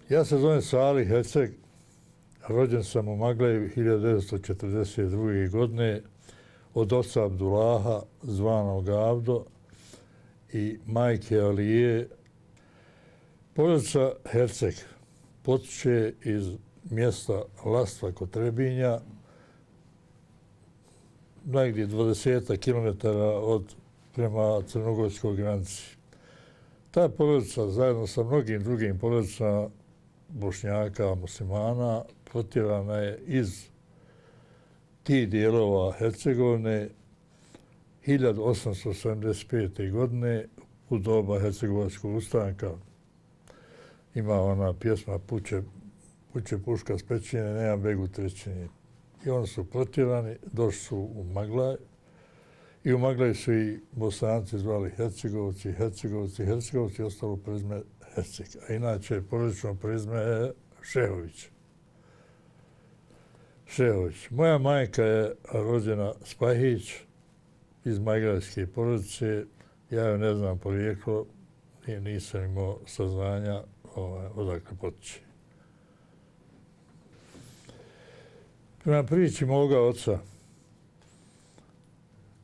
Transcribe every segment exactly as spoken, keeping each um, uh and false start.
Ja se zovem Salih Herceg, rođen sam u Magleju hiljadu devetsto četrdeset druge. godine od oca Abdullaha, zvanog Avdo, i majke Alije. Porodica Herceg potiče iz mjesta Lastva kod Trebinja, negdje dvadeset kilometara od prema crnogorskoj granici. Ta porodica zajedno sa mnogim drugim porodicama Bošnjaka, muslimana, protjerana je iz tih dijelova Hercegovine hiljadu osamsto sedamdeset pete. godine u doba Hercegovačkog ustanka. Ima ona pjesma Puće, puće puška s pećine, nema begu trećine. I oni su protjerani, došli su u Maglaj. I u Maglaju su i Bosanci zvali Hercegovci, Hercegovci, Hercegovci, ostalo prezime Herceg. A inače, porodično prezime je Šehović. Šehović. Moja majka je rođena Spahić iz maglajske porodice. Ja joj ne znam porijeklo, nisam imao saznanja odakle potiče. Prema priči moga oca,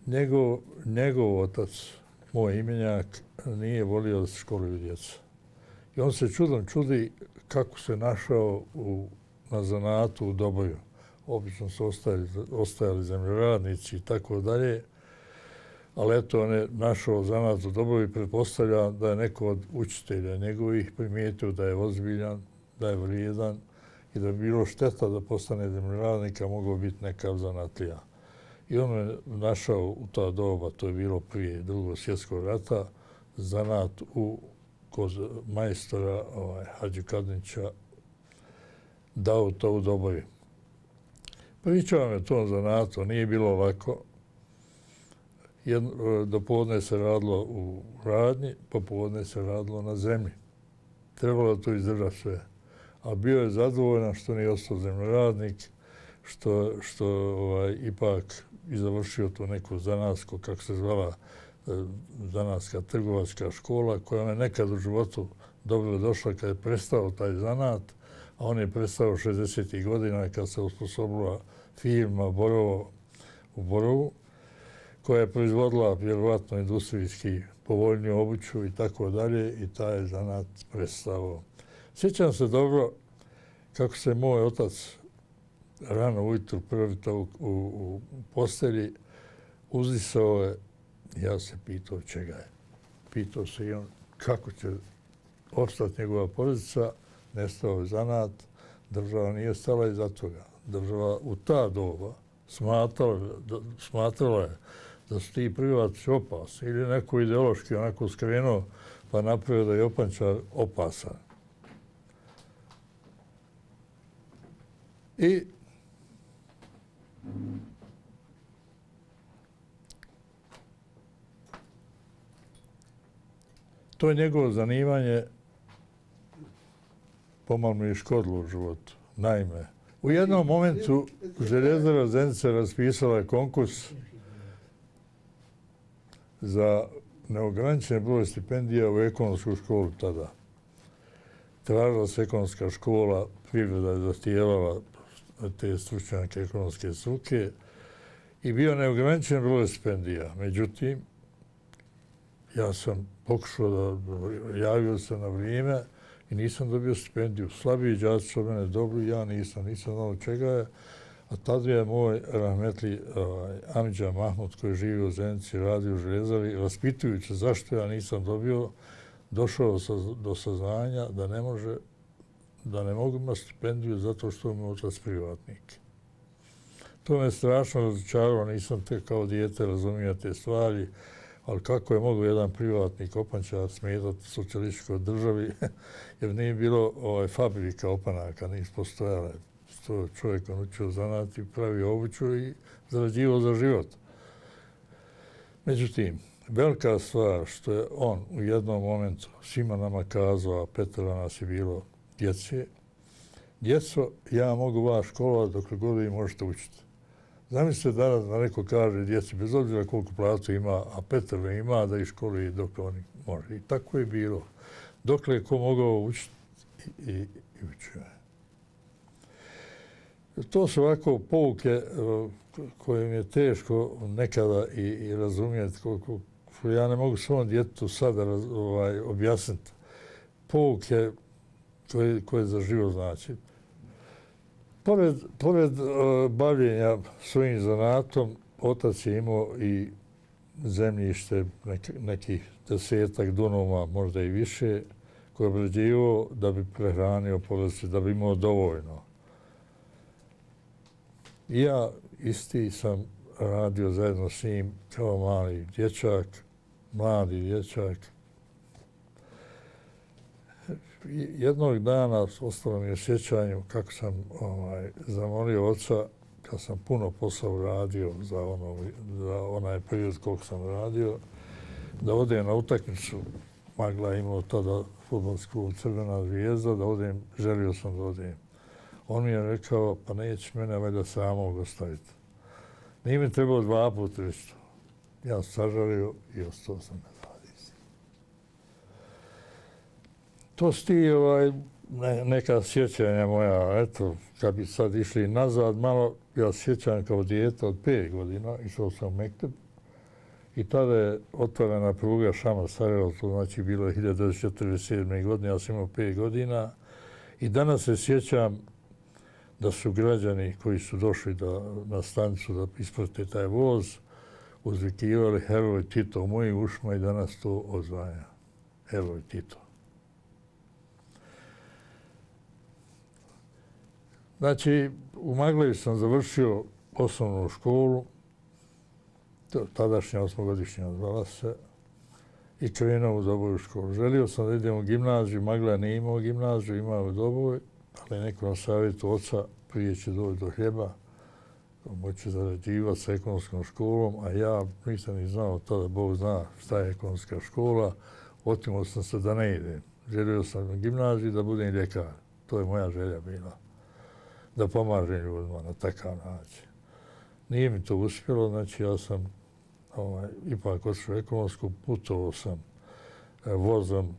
njegov, njegov otac, moj imenjak, nije volio da se školuju djeca. I on se čudom čudi kako se našao u, na zanatu u Doboju. Obično su ostajali, ostajali zemljoradnici i tako dalje, ali eto on je našao zanat u Doboju i pretpostavlja da je neko od učitelja njegovih primijetio da je ozbiljan, da je vrijedan i da je bilo šteta da postane zemljoradnika, mogao biti nekav zanatlija. I on je našao u ta doba, to je bilo prije drugog svjetskog rata, zanat u, kod majstora ovaj, Hadži Kadnića, dao to u Doboju. Pričao me to zanatu, nije bilo lako. Jedno, dopodne se radilo u radnji, popodne se radilo na zemlji. Trebalo je to izdržati sve. A bio je zadovoljan što nije ostao zemljoradnik, što, što ovaj, ipak i završio tu neku zanatsko, kako se zvala, zanatska trgovačka škola, koja me nekad u životu dobro došla kad je prestao taj zanat, a on je prestao šezdesetih godina kad se usposobila firma Borovo u Borovu, koja je proizvodila vjerovatno industrijski povoljniju obuću i tako dalje, i taj je zanat prestao. Sjećam se dobro kako se moj otac rano ujutru prvitao u, u, u postelji, uzdisao je, ja se pitao čega je. Pitao se i on kako će opstati njegova porodica, nestao je zanat, država nije stala iza toga. Država u ta doba smatrala, da, smatrala je da su ti privatnici opasni ili neko ideološki onako skrenuo pa napravio da je Jopančar opasan. I to je njegovo zanimanje pomalo mi je škodilo u životu. Naime, u jednom momentu Željezara Zenica raspisala je konkurs za neograničen broj stipendija u ekonomsku školu tada. Tražila se ekonomska škola, privreda je zahtijevala te stručnjake ekonomske struke i bio neograničen broj stipendija. Međutim, ja sam pokušao da javio se na vrijeme i nisam dobio stipendiju. Slabiji đaci su od mene dobri, ja nisam, nisam znao čega je. A tada je moj rahmetli ovaj, Amidža Mahmud, koji živi u Zenici, radi u Željezari, raspitujući zašto ja nisam dobio, došao do saznanja da ne može, da ne mogu imati stipendiju zato što mi je otac privatnik. To me strašno razočaralo, nisam te kao dijete razumio te stvari, ali kako je mogao jedan privatnik opančar smetati socijalističkoj državi, jer nije bilo ovaj, fabrika opanaka, nisu postojale. To čovjek on učio zanati, pravi obuću i zarađivao za život. Međutim, velika stvar što je on u jednom momentu svima nama kazao, a petero nas je bilo djece, djeco, ja mogu vas školovati dokle god vi možete učiti. Zamislite danas da neko kaže djeci, bez obzira koliko platu ima, a petero ima, da ih školuje dokle oni može. I tako je bilo. Dokle je ko mogao učiti i i učio je. To su ovako pouke koje mi je teško nekada i, i razumjeti, koliko ja ne mogu svom djetetu sada ovaj, objasniti. Pouke koje, koje za život znači. Pored, pored uh, bavljenja svojim zanatom, otac je imao i zemljište nek, nekih desetak dunoma, možda i više, koje je obrađivao da bi prehranio porodicu, da bi imao dovoljno. I ja isti sam radio zajedno s njim kao mali dječak, mladi dječak. Jednog dana ostalo mi je sjećanju kako sam ovaj, zamolio oca, kad sam puno posla uradio za, ono, za onaj period koliko sam radio, da odem na utakmicu. Magla imao tada fudbalsku Crvena zvijezda, da odem, želio sam da odem. On mi je rekao, pa neće mene valjda samog ostaviti. Nije mi trebalo dva puta već to. Ja sam sažalio i ostao sam na radi. To su ti ovaj, ne, neka sjećanja moja. Eto, kad bi sad išli nazad malo, ja sjećam kao dijete od pet godina, išao sam u Mekteb i tada je otvorena pruga Šama-Sarajevo, to znači bilo je hiljadu devetsto četrdeset sedme. godine, ja sam imao pet godina i danas se sjećam da su građani koji su došli da, na stanicu da isprate taj voz, uzvikivali heroj Tito u mojim ušima i danas to odzvanja. Heroj Tito. Znači, u Magleju sam završio osnovnu školu, tadašnja osmogodišnja zvala se, i krenuo u Doboju školu. Želio sam da idem u gimnaziju, Magleja nije imao gimnaziju, imao u Doboju, ali neko na savjetu oca prije će doći do hljeba, moći zarađivati sa ekonomskom školom, a ja nisam ni znao tada, Bog zna šta je ekonomska škola, otimao sam se da ne idem. Želio sam u gimnaziji da budem ljekar. To je moja želja bila. Da pomažem ljudima na takav način. Nije mi to uspjelo, znači ja sam ovaj, ipak otišao ekonomsku, putovao sam eh, vozom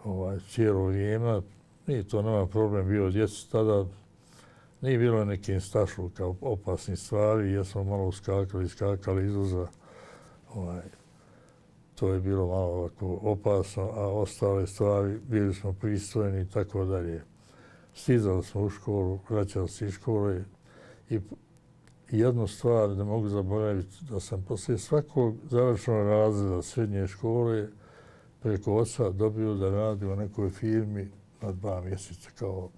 ovaj, cijelo vrijeme. Nije to nama problem bio djeci tada. Nije bilo nekim stašluka opasnih stvari, jer smo malo uskakali, iskakali izvoza. Ovaj, to je bilo malo ovako opasno, a ostale stvari bili smo pristojni i tako dalje. Stizali smo u školu, vraćali se iz škole i jednu stvar ne mogu zaboraviti, da sam poslije svakog završenog razreda srednje škole preko oca dobio da radi u nekoj firmi na dva mjeseca kao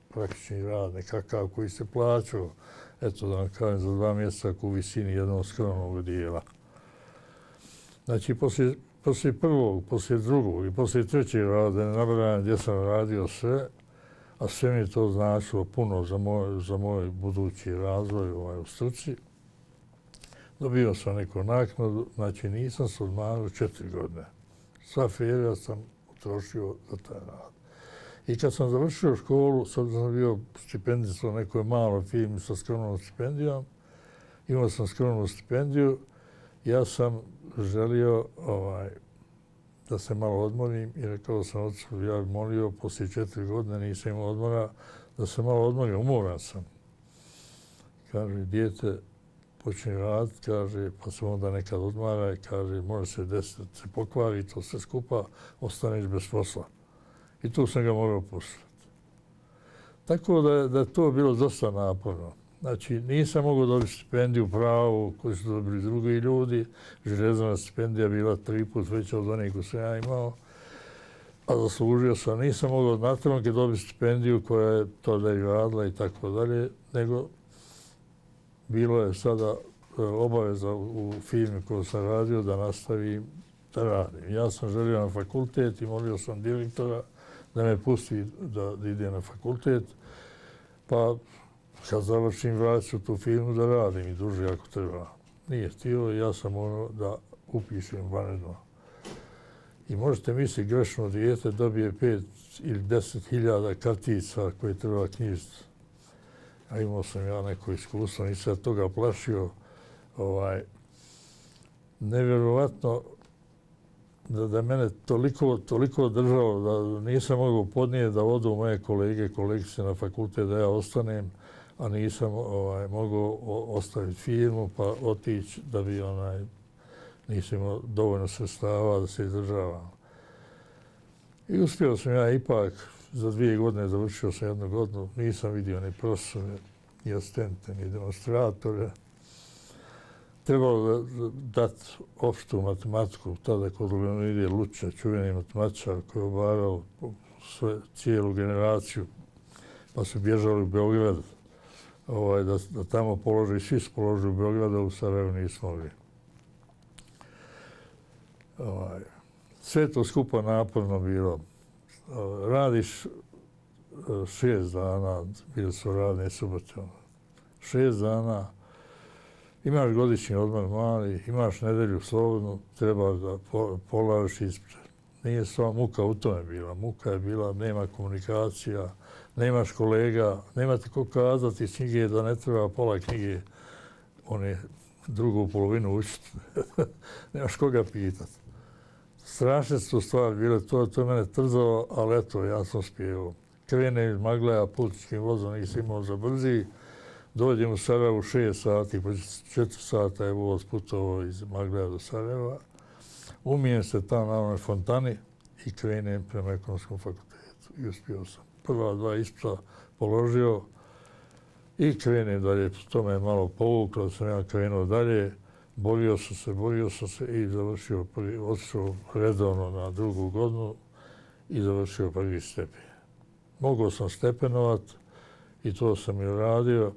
praktični rad, nekakav koji se plaćao, eto da vam kažem, za dva mjeseca u visini jednog skromnog dijela. Znači, poslije, poslije prvog, poslije drugog i poslije trećeg rada, ne nabrajam gdje sam radio sve, a sve mi je to značilo puno za moj, za moj budući razvoj ovaj, u struci. Dobio sam neku naknadu, znači nisam se odmarao četiri godine. Sva ferija sam utrošio za taj rad. I kad sam završio školu, sad sam bio stipendist u nekoj maloj firmi sa skromnom stipendijom, imao sam skromnu stipendiju, ja sam želio ovaj, da se malo odmorim i rekao sam ocu, ja bih molio, poslije četiri godine nisam imao odmora, da se malo odmorim, umoran sam. Kaže, dijete počne raditi, kaže, pa se onda nekad odmara i kaže, može se desiti, se pokvari, to sve skupa, ostaneš bez posla. I tu sam ga morao pustiti. Tako da je, da je to bilo dosta naporno. Znači, nisam mogao dobiti stipendiju pravu koju su dobili drugi ljudi. Železna stipendija bila tri put veća od onih koju sam ja imao. A zaslužio sam. Nisam mogao na trenutke dobiti stipendiju koja je to da je radila i tako dalje, nego bilo je sada obaveza u firmi koju sam radio da nastavim da radim. Ja sam želio na fakultet i molio sam direktora da me pusti da, da ide na fakultet, pa kad završim vratit ću tu firmu da radim i duže ako treba. Nije htio i ja sam ono da upišem vanredno. I možete misliti, grešno dijete dobije pet ili deset hiljada kartica koje treba knjižiti. A imao sam ja neko iskustvo, nisam toga plašio. Ovaj, nevjerovatno da, da mene toliko, toliko držalo da nisam mogao podnijeti da odu moje kolege, kolegice na fakultet, da ja ostanem, a nisam ovaj, mogao ostaviti firmu pa otići da bi onaj, nisam imao dovoljno sredstava da se izdržavam. I uspio sam ja ipak, za dvije godine završio sam jednu godinu, nisam vidio ni profesore, ni asistente, ni demonstratore. Trebalo da dati opštu matematiku, tada kod Leonide Luča, čuveni matematičar koji je obavljao sve, cijelu generaciju, pa su bježali u Beograd, ovaj, da, da tamo položi, svi su položili u Beogradu, u Sarajevu nismo mogli. Ovaj, sve to skupa naporno bilo. Radiš šest dana, bili su radne subote, šest dana, imaš godišnji odmor mali, imaš nedelju slobodnu, treba da polažiš ispred. Nije sva muka u tome bila. Muka je bila, nema komunikacija, nemaš kolega, nema ti ko kazati iz knjige da ne treba pola knjige, one drugu polovinu učiti. Nemaš koga pitati. Strašne su stvari bile, to, to je mene trzalo, ali eto, ja sam spjevao. Krenem iz Magleja putničkim vozom, nisam imao za brzi. Dođem u Sarajevo u šest sati, po četiri sata je voz putovao iz Magleja do Sarajeva. Umijem se tamo na onoj fontani i krenem prema ekonomskom fakultetu. I uspio sam. Prva dva ispita položio i krenem dalje. To me je malo povuklo, da sam ja krenuo dalje. Borio sam se, borio sam se i završio prvi, otišao redovno na drugu godinu i završio prvi stepen. Mogao sam stepenovat i to sam i radio.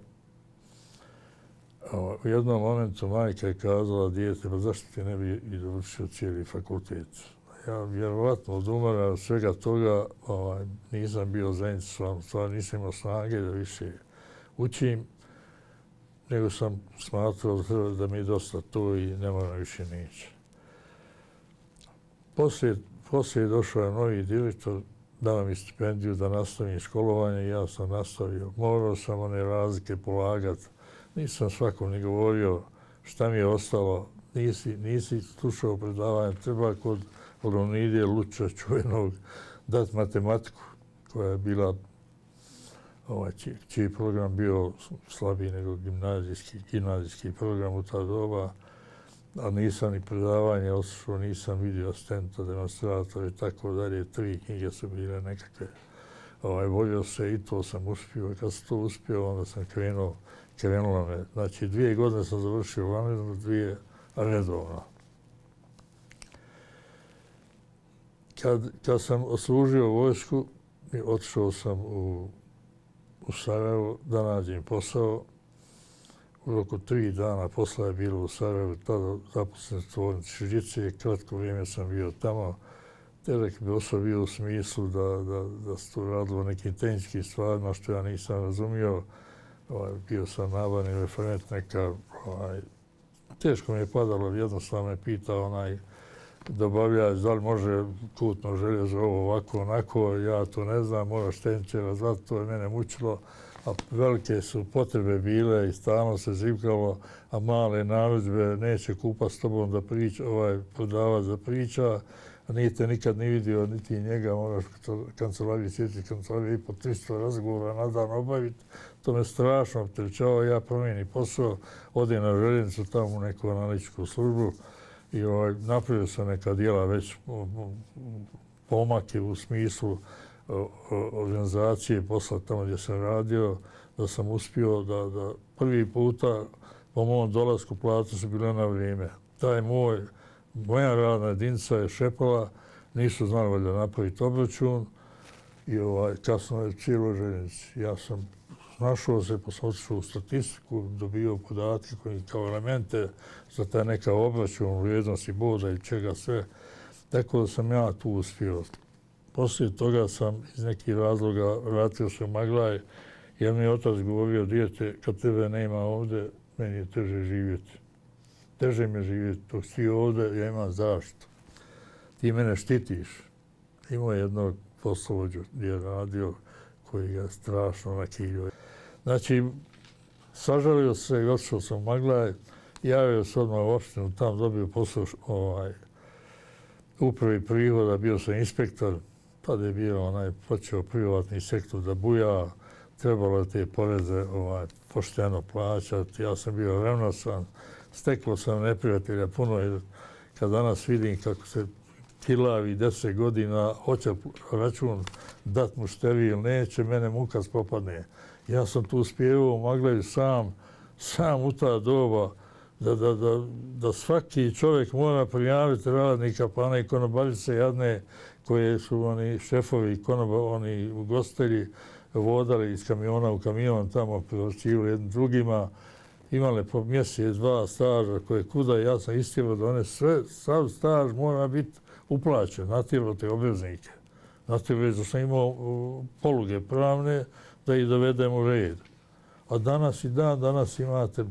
U jednom momentu majka je kazala dijete, pa zašto ti ne bi i završio cijeli fakultet? Ja vjerovatno od umora od svega toga ovaj, nisam bio zainteresovan, stvarno nisam imao snage da više učim, nego sam smatrao da mi je dosta to i ne moram više nići. Poslije, poslije došao je novi direktor, dao mi stipendiju da nastavim školovanje i ja sam nastavio. Morao sam one razlike polagati. Nisam svakom ni govorio šta mi je ostalo. Nisi, nisi slušao predavanje. Treba kod Leonide Luča čuvenog dati matematiku koja je bila, ovaj, čiji, čiji program bio slabiji nego gimnazijski, gimnazijski program u ta doba. A nisam ni predavanje otišao, nisam vidio asistenta, demonstratora i tako dalje. Tri knjige su bile nekakve. Ovaj, volio se i to sam uspio. Kad sam to uspio, onda sam krenuo, krenulo me. Znači, dvije godine sam završio vanredno, dvije redovno. Kad, kad sam odslužio vojsku, otišao sam u, u Sarajevo da nađem posao. U roku tri dana posla je bilo u Sarajevu, tada zaposlen tvornici Žice, kratko vrijeme sam bio tamo. Težak bi osoba bio u smislu da, da, da se to radilo nekim tehničkim stvarima što ja nisam razumio. Ovaj, bio sam nabavni referent neka, ovaj, teško mi je padalo, jednostavno me pitao onaj dobavljač da li može kutno željezo ovo ovako onako, ja to ne znam, moraš tehničara zvati, to je mene mučilo. A velike su potrebe bile i stalno se zivkalo, a male narudžbe neće kupa s tobom da priča, ovaj prodavac da priča, a nije te nikad ni vidio, niti njega, moraš kancelariji sjetiti, kancelariji i po tristo razgovora na dan obaviti. To me strašno opterećavao, ja promijenim posao, odem na željenicu tamo u neku analitičku službu i ovaj, napravio sam neka dijela već pomake u smislu organizacije posla tamo gdje sam radio, da sam uspio da, da prvi puta po mom dolasku plate su bile na vrijeme. Taj moj, moja radna jedinica je šepala, nisu znali valjda napraviti obračun i ovaj, kasno je cijelo željenici. Ja sam našao se, pa sam otišao u statistiku, dobio podatke koji kao elemente za taj neka obračun, vrijednosti boda i čega sve. Tako da sam ja tu uspio. Poslije toga sam iz nekih razloga vratio se u Maglaj, jer mi je otac govorio, dijete, kad tebe nema ovdje, meni je teže živjeti. Teže mi je živjeti, dok si ti ovdje, ja imam zaštitu. Ti mene štitiš. Imao je jednog poslovođu gdje je radio, koji ga strašno nakilio. Znači, sažalio se i otišao sam u Maglaj, javio se odmah u opštinu, tam dobio posao ovaj, upravi prihoda, bio sam inspektor, tada je bio onaj počeo privatni sektor da buja, trebalo te poreze ovaj, pošteno plaćati, ja sam bio revnosan, steklo sam neprijatelja puno, jer kad danas vidim kako se kilavi deset godina, hoće račun dat mušteri ili neće, mene muka spopadne. Ja sam tu spjevao u Magleju sam, sam u ta doba, da, da, da, da svaki čovjek mora prijaviti radnika, pa one konobaljice jadne koje su oni šefovi, konoba, oni ugostitelji vodali iz kamiona u kamion, tamo privlačili jednim drugima, imale po mjesec, dva staža koje kuda, ja sam istjerao da one sve, sav staž mora biti uplaćen, natjerao te obveznike. Natjerao da sam imao poluge pravne da ih dovedem u red. A danas i dan, danas imate,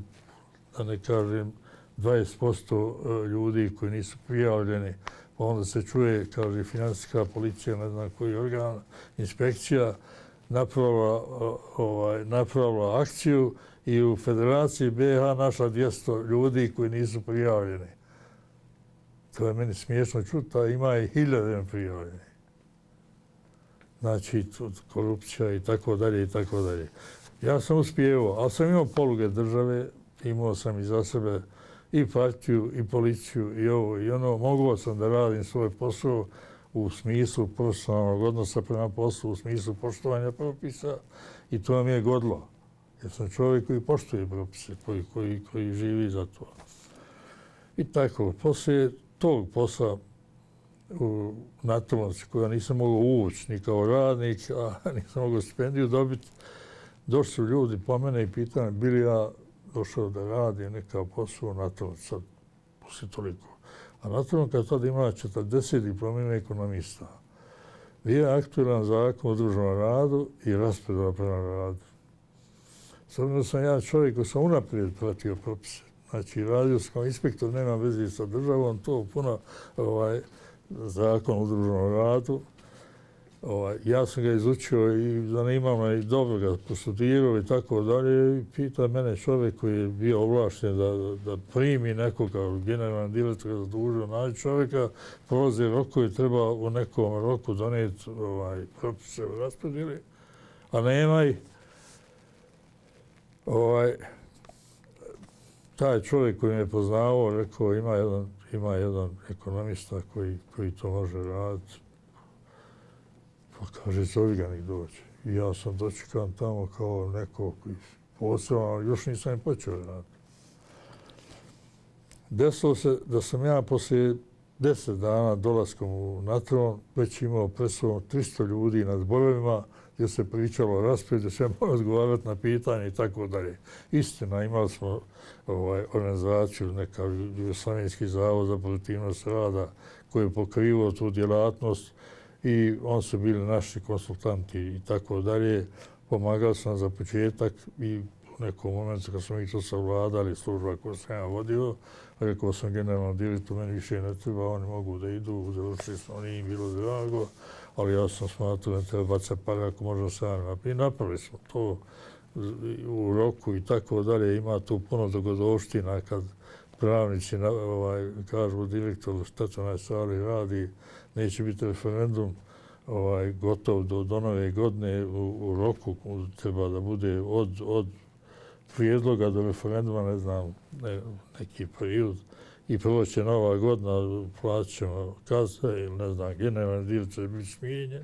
da ne kažem, dvadeset posto ljudi koji nisu prijavljeni, pa onda se čuje, kaže, finansijska policija, ne znam koji organ, inspekcija, napravila, ovaj, napravila akciju i u Federaciji B iH našla dvjesto ljudi koji nisu prijavljeni. To je meni smiješno čuti, a ima i hiljade prijavljeni. Znači, korupcija i tako dalje i tako dalje. Ja sam uspjevao, ali sam imao poluge države, imao sam iza sebe i partiju, i policiju, i ovo, i ono. Mogao sam da radim svoj posao u smislu profesionalnog odnosa prema poslu, u smislu poštovanja propisa i to mi je godilo. Jer sam čovjek koji poštuje propise, koji, koji, koji živi za to. I tako, poslije tog posla u Natovnici, koja nisam mogao ući ni kao radnik, a nisam mogao stipendiju dobiti, došli su ljudi po mene i pitali bi li ja došao da radi nekakav posao u Natovnici, sad poslije toliko. A Natovnica tada imala četrdeset diplomiranih ekonomista. Bio je aktualan zakon o udruženom radu i raspodjela prema radu. S obzirom da sam ja čovjek koji sam unaprijed pratio propise. Znači, radio sam kao inspektor, nema veze sa državom, to puno ovaj, zakon o udruženom radu. Ovaj, ja sam ga izučio i zanimao me i dobro ga postudirao i tako dalje. I pita mene čovjek koji je bio ovlašten da, da, da primi nekoga, generalni direktor ga zadužio, naći čovjeka, prolaze rokovi, treba u nekom roku donijeti ovaj, propise u raspodjeli, a nema ih. Ovaj, taj čovjek koji me je poznavao, rekao ima jedan, ima jedan ekonomista koji, koji to može raditi. Pa kaže, zovi ga nek dođe. I ja sam dočekan tamo kao neko koji posebno, ali još nisam im počeo raditi. Desilo se da sam ja poslije deset dana dolaskom u Natron već imao pred sobom tristo ljudi na zborovima gdje se pričalo o rasporedu, gdje se morao odgovarati na pitanje i tako dalje. Istina, imali smo ovaj, organizaciju, neka Jugoslavijski zavod za produktivnost rada koji je pokrivao tu djelatnost i on su bili naši konsultanti i tako dalje. Pomagali sam za početak i u nekom momentu kad smo mi to savladali, služba koju sam ja vodio, rekao sam generalnom direktoru, meni više ne treba, oni mogu da idu, završili smo, nije im bilo drago, ali ja sam smatrao da treba bacati pare ako možemo sami napraviti. I napravili smo to u roku i tako dalje. Ima tu puno dogodovština kad pravnici ovaj, kažu direktoru šta to na stvari radi, neće biti referendum ovaj, gotov do, do nove godine u, u roku, treba da bude od, od prijedloga do referenduma, ne znam, ne, neki period. I prvo će nova godina, platit ćemo kazne ili ne znam, generalni direktor će biti smijenjen.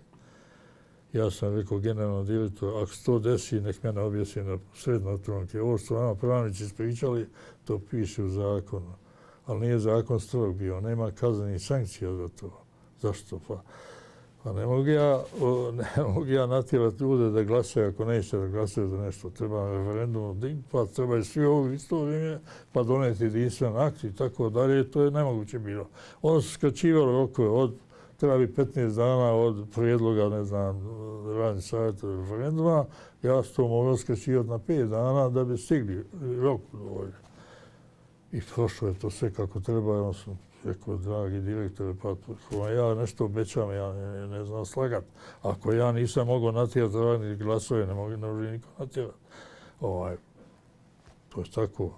Ja sam rekao generalnom direktoru, ako se to desi, nek mene objasni na srednoj tronke. Ovo što nama pravnici ispričali, to piše u zakonu. Ali nije zakon strog bio, nema kaznenih sankcija za to. Zašto? Pa, pa ne mogu ja, ne mogu ja natjerati ljude da glasaju ako neće da glasaju za nešto. Treba referendum, pa treba i svi ovo isto vrijeme, pa doneti jedinstven akt i tako dalje. To je nemoguće bilo. Onda su skraćivali rokove od treba bi petnaest dana od prijedloga, ne znam, radni savjet referenduma. Ja sam to mogao skraćivati na pet dana da bi stigli rok dovoljno. I prošlo je to sve kako treba. Ja sam rekao, dragi direktore, pa ja nešto obećam, ja ne, ne znam slagati. Ako ja nisam mogao natjerati radni glasove, ne mogu ne može niko natjerati. Ovaj, to je tako.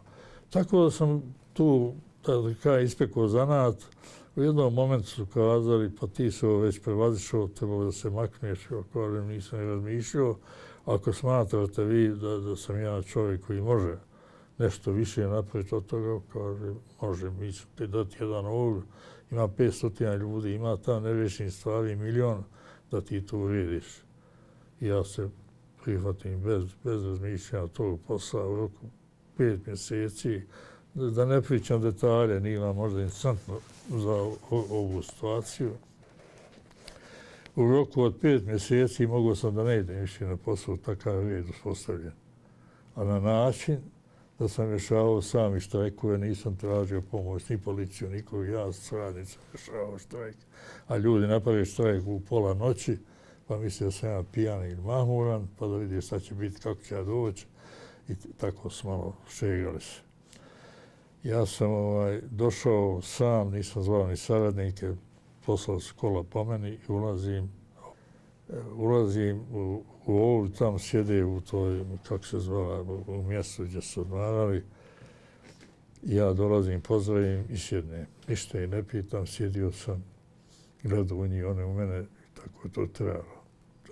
Tako da sam tu, da kaj ispekao zanat, U jednom momentu su kazali, pa ti se ovo već prevazišao, trebalo da se makneš, ja kažem, nisam ne razmišljao. Ako smatrate vi da, da sam ja čovjek koji može nešto više napraviti od toga, kaže, može, mi ću ti dati jedan ovdje, ima petsto ljudi, ima tam nerešenih stvari, milion, da ti to urediš. I ja se prihvatim bez, bez razmišljanja tog posla u roku pet mjeseci, da ne pričam detalje, nije vam možda interesantno za ovu situaciju. U roku od pet mjeseci mogao sam da ne idem više na posao, takav red uspostavljen. A na način da sam rješavao sami štrajkove, nisam tražio pomoć ni policiju, nikog, ja s radnicom rješavao štrajk. A ljudi naprave štrajk u pola noći, pa misle da sam ja pijan ili mahmuran, pa da vidi šta će biti, kako će ja doći. I tako smo malo šegali se. Ja sam ovaj, došao sam, nisam zvao ni saradnike, poslao su kola po meni i ulazim, ulazim u, u ovu, tam sjede u toj, kako se zvala, u mjestu gdje su odmarali. Ja dolazim, pozdravim i sjednem. Ništa i ne pitam, sjedio sam, gledao u njih, one u mene, i tako je to trebalo.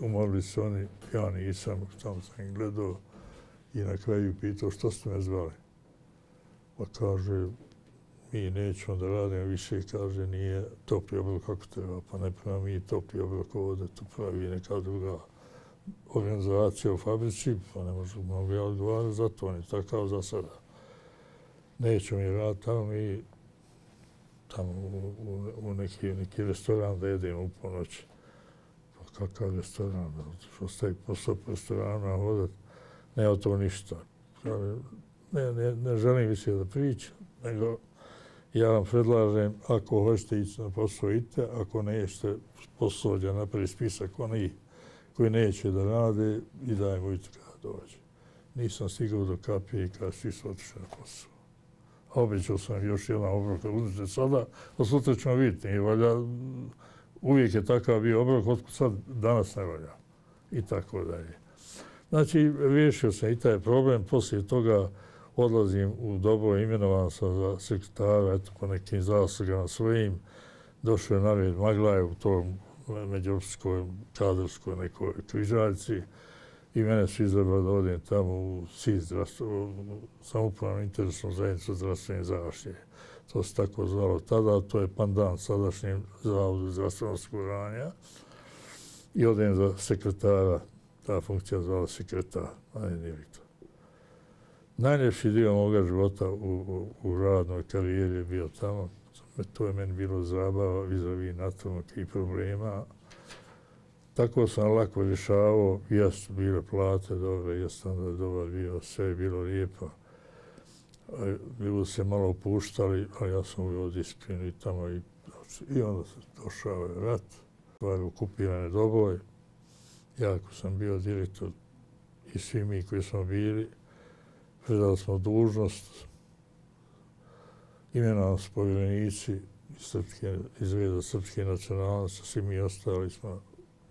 Umorili su oni, ja nisam, tamo sam ih gledao i na kraju pitao što ste me zvali. Pa kaže, mi nećemo da radimo više, kaže, nije topli obrok kako treba, pa ne prema mi topli obrok ovdje, to pravi neka druga organizacija u fabrici, pa ne možemo ja odgovarati za to, on je takav za sada. Nećemo mi raditi tamo, mi tamo u, u, u neki, neki restoran da jedemo u ponoć. Pa kakav restoran, što stavi posao po restoranu, a hodat, nema to ništa. Ne, ne, ne želim više da pričam, nego ja vam predlažem, ako hoćete ići na posao, idite, ako nećete, poslođa napravi spisak onih koji neće da rade i dajmo i kada dođe. Nisam stigao do kapije kada svi su otišli na posao. A obećao sam još jedan obrok, uzmite sada, a sutra ćemo vidjeti. Nije valja, uvijek je takav bio obrok, otkud sad danas ne valja. I tako dalje. Znači, riješio sam i taj problem, poslije toga odlazim u dobro, imenovan sam za sekretara, eto, po nekim zaslugama svojim. Došao je na red Maglajev u tom međuopskoj, kadrovskoj nekoj križaljci i mene su izabrali da odem tamo u S I Z, samoupravnu interesnu zajednicu zdravstvene zaštite. To se tako zvalo tada, to je pandan sadašnjem zavodu zdravstvenog osiguranja. I odem za sekretara, ta funkcija zvala sekretar, a ne direktor. Najljepši dio moga života u, u, u radnoj karijeri je bio tamo. To je meni bilo zabava vis-a-vis natalnog i problema. Tako sam lako rješavao, jesu bile plate dobre, jesu standard dobar bio, sve je bilo lijepo. Bilo se malo opuštali, a ja sam uvijel disciplinu i tamo i, i onda se došao je rat, stvari okupirane doboj. Ja ako sam bio direktor i svi mi koji smo bili, predali smo dužnost, imenovali su povjerenici iz reda srpske nacionalnosti, svi mi ostali smo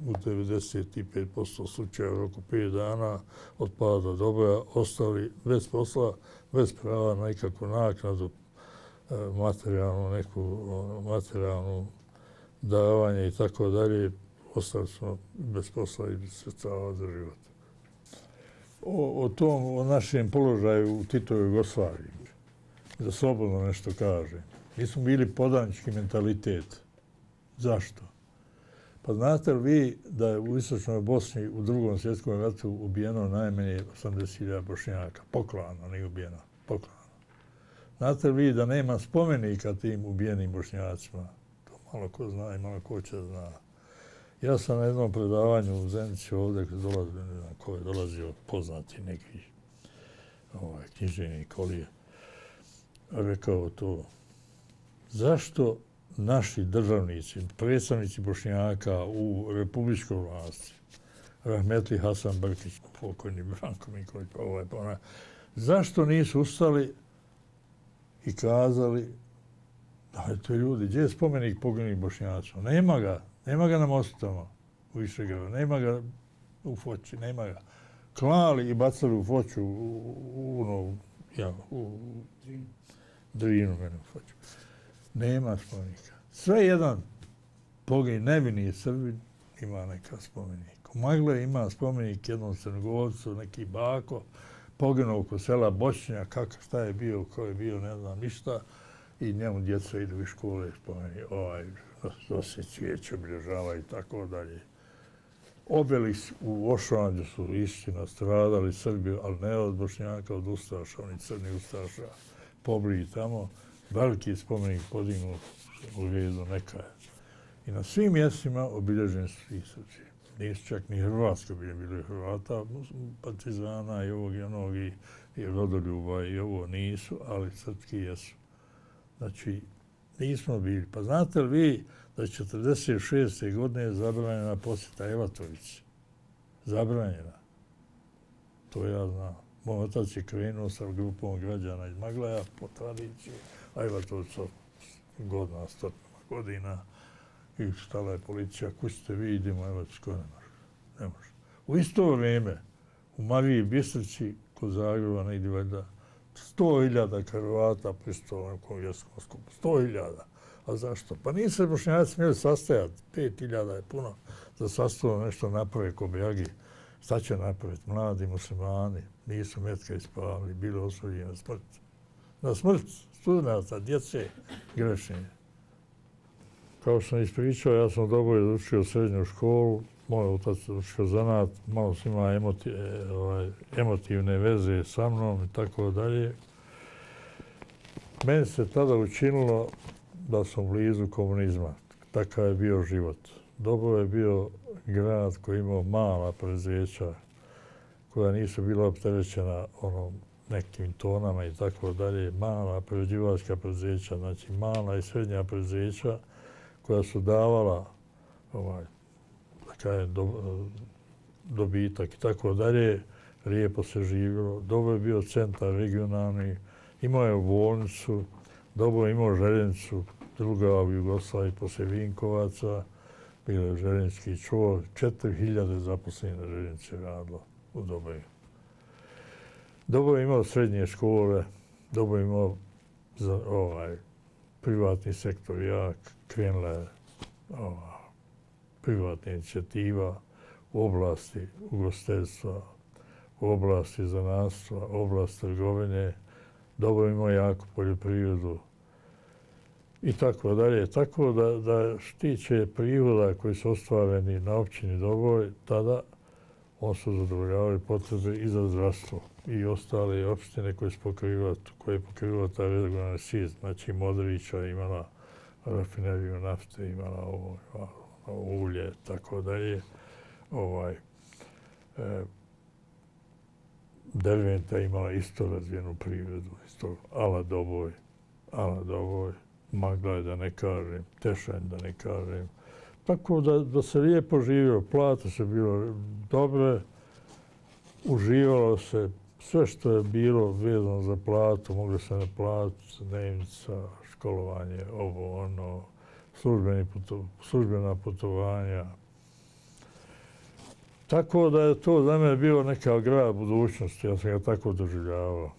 u devedeset pet posto slučaja u roku pet dana od pada doboja, ostali bez posla, bez prava na nikakvu naknadu, materijalnu, neku materijalnu davanje i tako dalje. Ostali smo bez posla i bez sredstava za život. O, o tom, o našem položaju u Titovoj Jugoslaviji, da slobodno nešto kaže. Mi smo bili podanički mentalitet. Zašto? Pa znate li vi da je u Istočnoj Bosni u drugom svjetskom ratu ubijeno najmanje osamdeset hiljada Bošnjaka? Poklano, nije ubijeno. Poklano. Znate li vi da nema spomenika tim ubijenim Bošnjacima? To malo ko zna i malo ko će zna. Ja sam na jednom predavanju u Zenici ovdje, gdje dolazi, ne znam ko je dolazio, poznati neki ovaj, književnik Kolije, rekao to. Zašto naši državnici, predstavnici Bošnjaka u republičkoj vlasti, rahmetli Hasan Brkić, pokojni Branko Mikolić, pa ovaj, pa ona, zašto nisu ustali i kazali, dajte ljudi, gdje je spomenik poginulih Bošnjacima? Nema ga. Nema ga na mostama u Višegradu, nema ga u Foči, nema ga. Klali i bacali u Foču, u, u, u, ja, u Drinu, mene u Foču. Nema spomenika. Sve jedan pogin, nevini Srbin ima neka spomenik. U Magle ima spomenik jednom Crnogorcu, neki bako, poginuo oko sela Bošnja, kako, šta je bio, ko je bio, ne znam ništa, i njemu djeca idu iz škole, spomeni, ovaj, nosi cvijeće, obilježava i tako dalje. Obelisk u Ošanđu su istina stradali Srbi, ali ne od Bošnjaka, od Ustaša, oni crni Ustaša, pobriji tamo, veliki spomenik podignu u Vijedu neka je. I na svim mjestima obilježeni su svi Srbi. Nisu čak ni Hrvatski bili Hrvata, partizana i ovog i onog i, i rodoljuba i ovo nisu, ali srpski jesu. Znači, nismo bili. Pa znate li vi da je četrdeset šeste godine zabranjena posjeta Evatovići? Zabranjena. To ja znam. Moj otac je krenuo sa grupom građana iz Maglaja po tradiciji, a Evatović godina, stotina godina. I stala je policija, kućite vi, idemo, evo, skoro ne može. Ne može. U isto vrijeme, u Mariji Bistrici, kod Zagreba, negdje valjda, sto hiljada Hrvata pristalo na kongreskom skupu. Sto hiljada. A zašto? Pa nisu se Bošnjaci smjeli sastajati. Pet hiljada je puno za sastavno nešto naprave ko Bjagi. Šta će napraviti? Mladi muslimani nisu metka ispavali, bili osuđeni na smrt. Na smrt studenata, djece, grešenje. Kao što sam ispričao, ja sam dobro završio srednju školu, moj otac završio zanat, malo sam imao emoti, ovaj, emotivne veze sa mnom i tako dalje. Meni se tada učinilo da sam blizu komunizma. Takav je bio život. Dobro je bio grad koji imao mala preduzeća koja nisu bila opterećena onom nekim tonama i tako dalje. Mala prerađivačka preduzeća, znači mala i srednja preduzeća koja su davala ovaj, da kažem, do, dobitak i tako dalje, lijepo se živjelo. Dobro je bio centar regionalni, imao je bolnicu, dobro je imao željeznicu, druga u Jugoslaviji poslije Vinkovaca, bio je željeznički čvor, četiri hiljade zaposlenih na željeznici radilo u Dobaju. Dobro je imao srednje škole, dobro je imao za, ovaj, privatni sektor jak, krenula je ova, privatna inicijativa u oblasti ugostiteljstva, u oblasti zanatstva, u oblasti trgovine, dobro imao jako poljoprivredu i tako dalje. Tako da, da štiće prihoda koji su ostvareni na općini Doboj, tada on su zadovoljavali potrebe i za zdravstvo i ostale opštine koje su pokrivali, koje je pokrivala ta regionalna svijest. Znači Modrića imala rafineriju nafte, imala ovo, ovo ulje, tako dalje. Ovaj, e, Derventa imala isto razvijenu privredu, isto ala Doboj, ala Doboj, Magla da ne kažem, Tešanj da ne kažem. Tako da, da se lijepo živio, plate su bilo dobre, uživalo se, sve što je bilo vezano za platu, moglo se naplatiti, dnevnica, školovanje, ovo, ono, službeni puto, službena putovanja. Tako da je to za mene bilo neka grad budućnosti, ja sam ga tako doživljavao.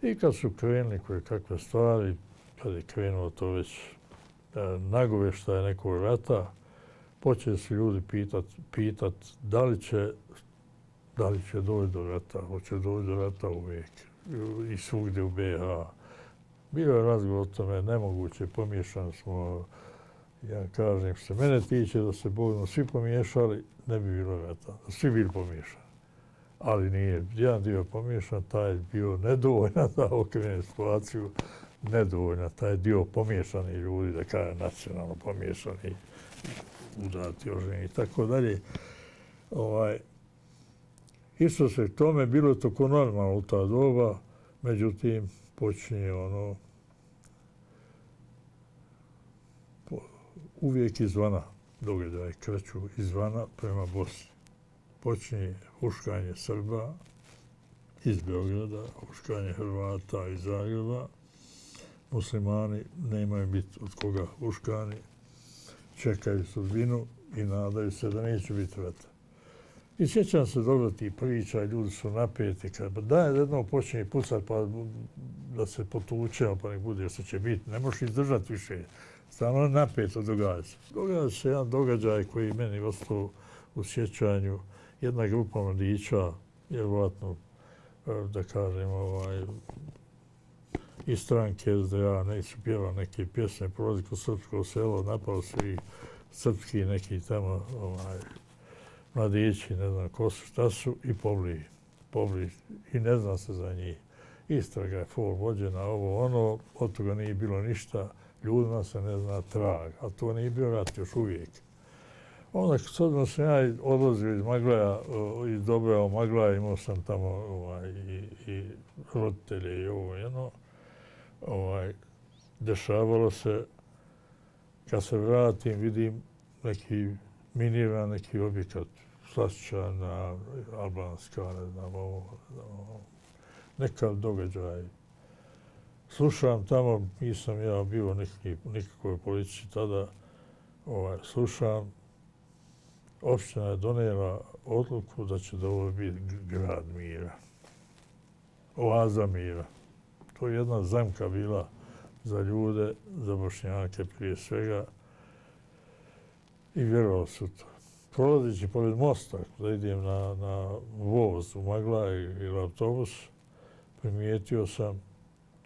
I kad su krenuli koje kakve stvari, kad je krenulo to već nagovještaje nekog rata, počeli su ljudi pitat, pitat da li će, da li će doći do rata, hoće doći do rata uvijek i svugdje u B iH. Bio je razgovor o tome, nemoguće, pomiješani smo, ja kažem, što se mene tiče da se budemo svi pomiješali, ne bi bilo rata, da svi bili pomiješani. Ali nije, jedan dio pomiješan, taj je bio nedovoljna da okrene situaciju, nedovoljna, taj dio pomiješani ljudi, da kaže nacionalno pomiješani, udati, oženi i tako dalje. Ovaj, isto se tome bilo toko normalno u ta doba, međutim, počinje ono po, uvijek izvana događaj kreću izvana prema Bosni. Počinje huškanje Srba iz Beograda, huškanje Hrvata iz Zagreba. Muslimani nemaju biti od koga huškani, čekaju sudbinu i nadaju se da neće biti rata. I sjećam se dobro tih priča, ljudi su napeti, kad daj jednom počinje pucat pa da se potučemo pa nek bude, jer se će biti, ne možeš izdržati više. Stalno napeto događa se. Događa se jedan događaj koji meni ostao u sjećanju. Jedna grupa mladića, vjerovatno, da kažem, ovaj, iz stranke S D A, neki su pjevali neke pjesme, prolazi kroz srpsko selo, napali su i srpski neki tamo ovaj, mladići, ne znam ko su, šta su, i pobili. pobili. I ne zna se za njih. Istraga je fol vođena, ovo ono, od toga nije bilo ništa, ljudima se ne zna trag, a to nije bio rat još uvijek. Onda s obzirom sam ja odlazio iz Maglaja, iz Dobrava Maglaja, imao sam tamo ovaj, i, i roditelje i ovo jedno. Ovaj, dešavalo se, kad se vratim, vidim neki miniran, neki objekat, slašćana, albanska, ne znam, ovo, ovo, nekav događaj. Slušam tamo, nisam ja bio neki, nikakvoj politici tada, ovaj, slušam, opština je donijela odluku da će da ovo biti grad mira. Oaza mira. To je jedna zamka bila za ljude, za Bošnjake prije svega. I vjerovali su to. Prolazeći pored mosta, da idem na, na voz u Maglaj ili autobus, primijetio sam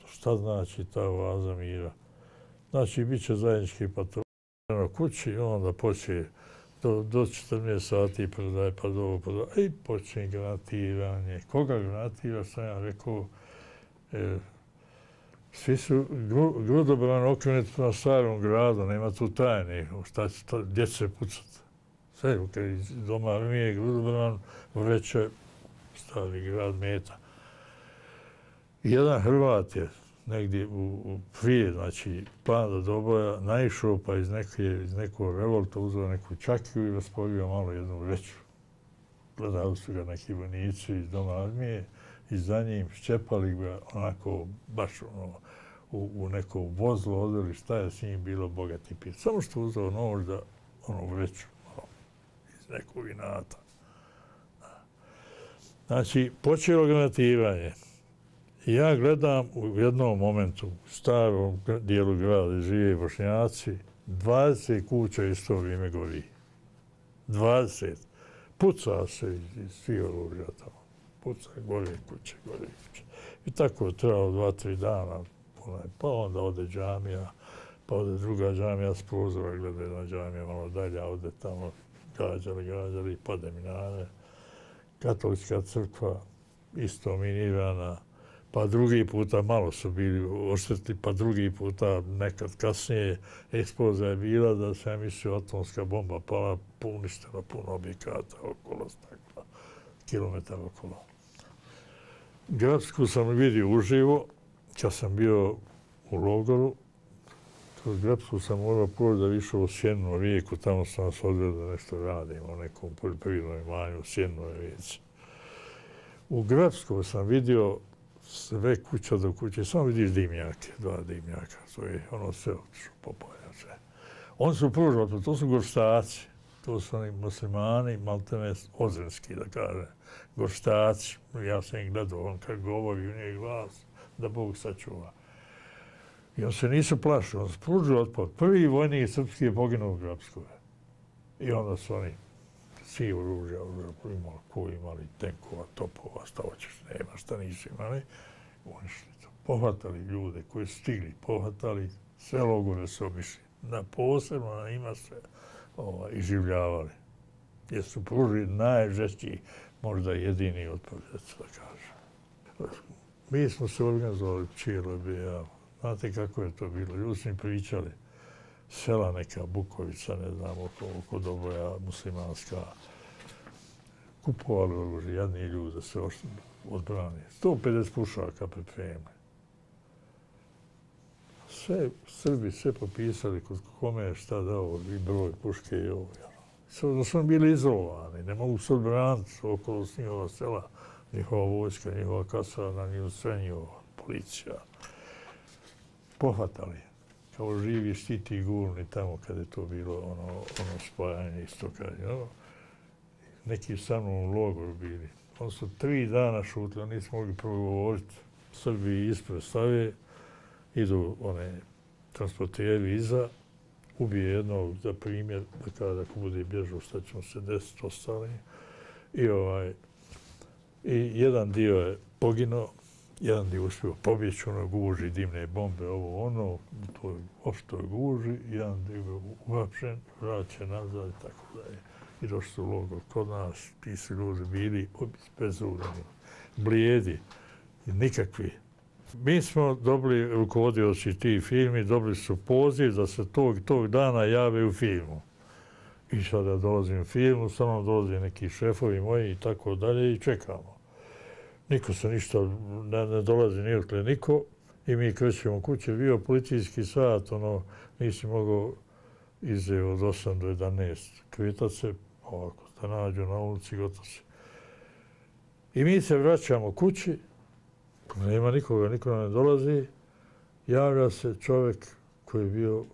šta znači ta oaza mira. Znači, bit će zajednički patrol na kući, onda počne do, do četrnaest sati predaj, pa do ovo, pa do... I počne granatiranje. Koga granatira, sam ja rekao, e, svi su gru, grudobran okrenuti na starom gradu, nema tu tajne, šta će to, gdje će se pucati. Sve, kad iz doma armije grudobran vreće stari grad meta. Jedan Hrvat je negdje u, u prije, znači, plana do boja, naišao pa iz, neke, iz nekog revolta uzeo neku čakiju i raspolio malo jednu vreću. Gledali su ga neki vojnici iz doma armije i za njim šćepali ga onako baš ono, u, u neko vozlo odveli šta je s njim bilo bogati pit. Samo što uzeo nož da ono vreću ono, iz nekog inata. Znači, počelo granatiranje. Ja gledam u jednom momentu, u starom dijelu grada, žive Bošnjaci, dvadeset kuća isto vrijeme gori. dvadeset. Puca se iz, iz svih oružja tamo. Puca, gore kuće, gore kuće. I tako je trebalo dva, tri dana. Pa onda ode džamija, pa ode druga džamija s prozora, gleda jedna džamija malo dalje, ode tamo gađali, gađali, pade minare. Katolička crkva, isto minirana. Pa drugi puta malo su bili oštetli, pa drugi puta nekad kasnije eksplozija je bila da se, ja mislio, atomska bomba pala, uništila puno objekata okolo, stakla, kilometar okolo. Grapsku sam vidio uživo, kad sam bio u logoru. Kroz Grapsku sam morao prvo da išao u Sjenu rijeku, tamo sam nas odveo da nešto radimo, u nekom poljoprivrednom imanju u Sjennoj rijeci. U Grapsku sam vidio sve kuća do kuće, samo vidiš dimnjake, dva dimnjaka, to je ono sve otišlo, popolja sve. Oni su prvo, to su gorštaci, to su oni muslimani, maltene ozrenski, da kaže, gorštaci. Ja sam ih gledao, on kad govori u njeg glas, da Bog sačuva. I on se nisu plašili, on se pružio otpor. Prvi vojnik srpski je poginuo u Grapskoj. I onda su oni svi oružja, imali, ko imali tenkova, topova, šta hoćeš, nema, šta nisu imali. Unišli to. Pohvatali ljude koji su stigli, pohvatali, sve logore su obišli. Na posebno na njima se ovaj, iživljavali. Jer su pružili najžešći, možda jedini otpor, da kažem. Mi smo se organizovali cijelo B I A. Znate kako je to bilo? Ljudi su mi pričali. Sela neka Bukovica, ne znam, oko, oko Doboja, muslimanska. Kupovali oružje, jadni ljudi da se odbrani. sto pedeset pušaka pripremili. Sve Srbi sve popisali kod kome je šta dao, i broj puške i ovo. Da su bili izolovani, ne mogu se odbraniti okolo s njihova sela, njihova vojska, njihova kasarna, njihova sve njihova policija. Pohvatali. Kao živi štiti gurni tamo kada je to bilo ono, ono spajanje isto kad je. Ono. Neki sa mnom u logoru bili. Oni su tri dana šutili, oni nisu mogli progovoriti. Srbi ispred stave, idu one transporteri iza ubije jednog za primjer, da kada ako bude bježao šta ćemo se desiti ostali. I, ovaj, I jedan dio je poginuo, jedan dio uspio pobjeći, ono guži, dimne bombe, ovo ono, u toj opštoj guži, jedan dio je uhapšen, vraćen nazad i tako dalje. I došli su u logor kod nas, ti su ljudi bili bezurani, blijedi, nikakvi. Mi smo dobili, rukovodioci tih filmi, dobili su poziv da se tog, tog dana jave u filmu. I sada dolazim u filmu, samo dolaze neki šefovi moji i tako dalje i čekamo. Niko se ništa, ne, ne dolazi nijakle niko i mi krećemo kuće. Bio policijski sat, ono, nisi mogao ize od osam do jedanaest kretat se, ovako, da nađu na ulici, gotovo se. I mi se vraćamo kući, nema nikoga, niko nam ne dolazi, javlja se čovjek koji je bio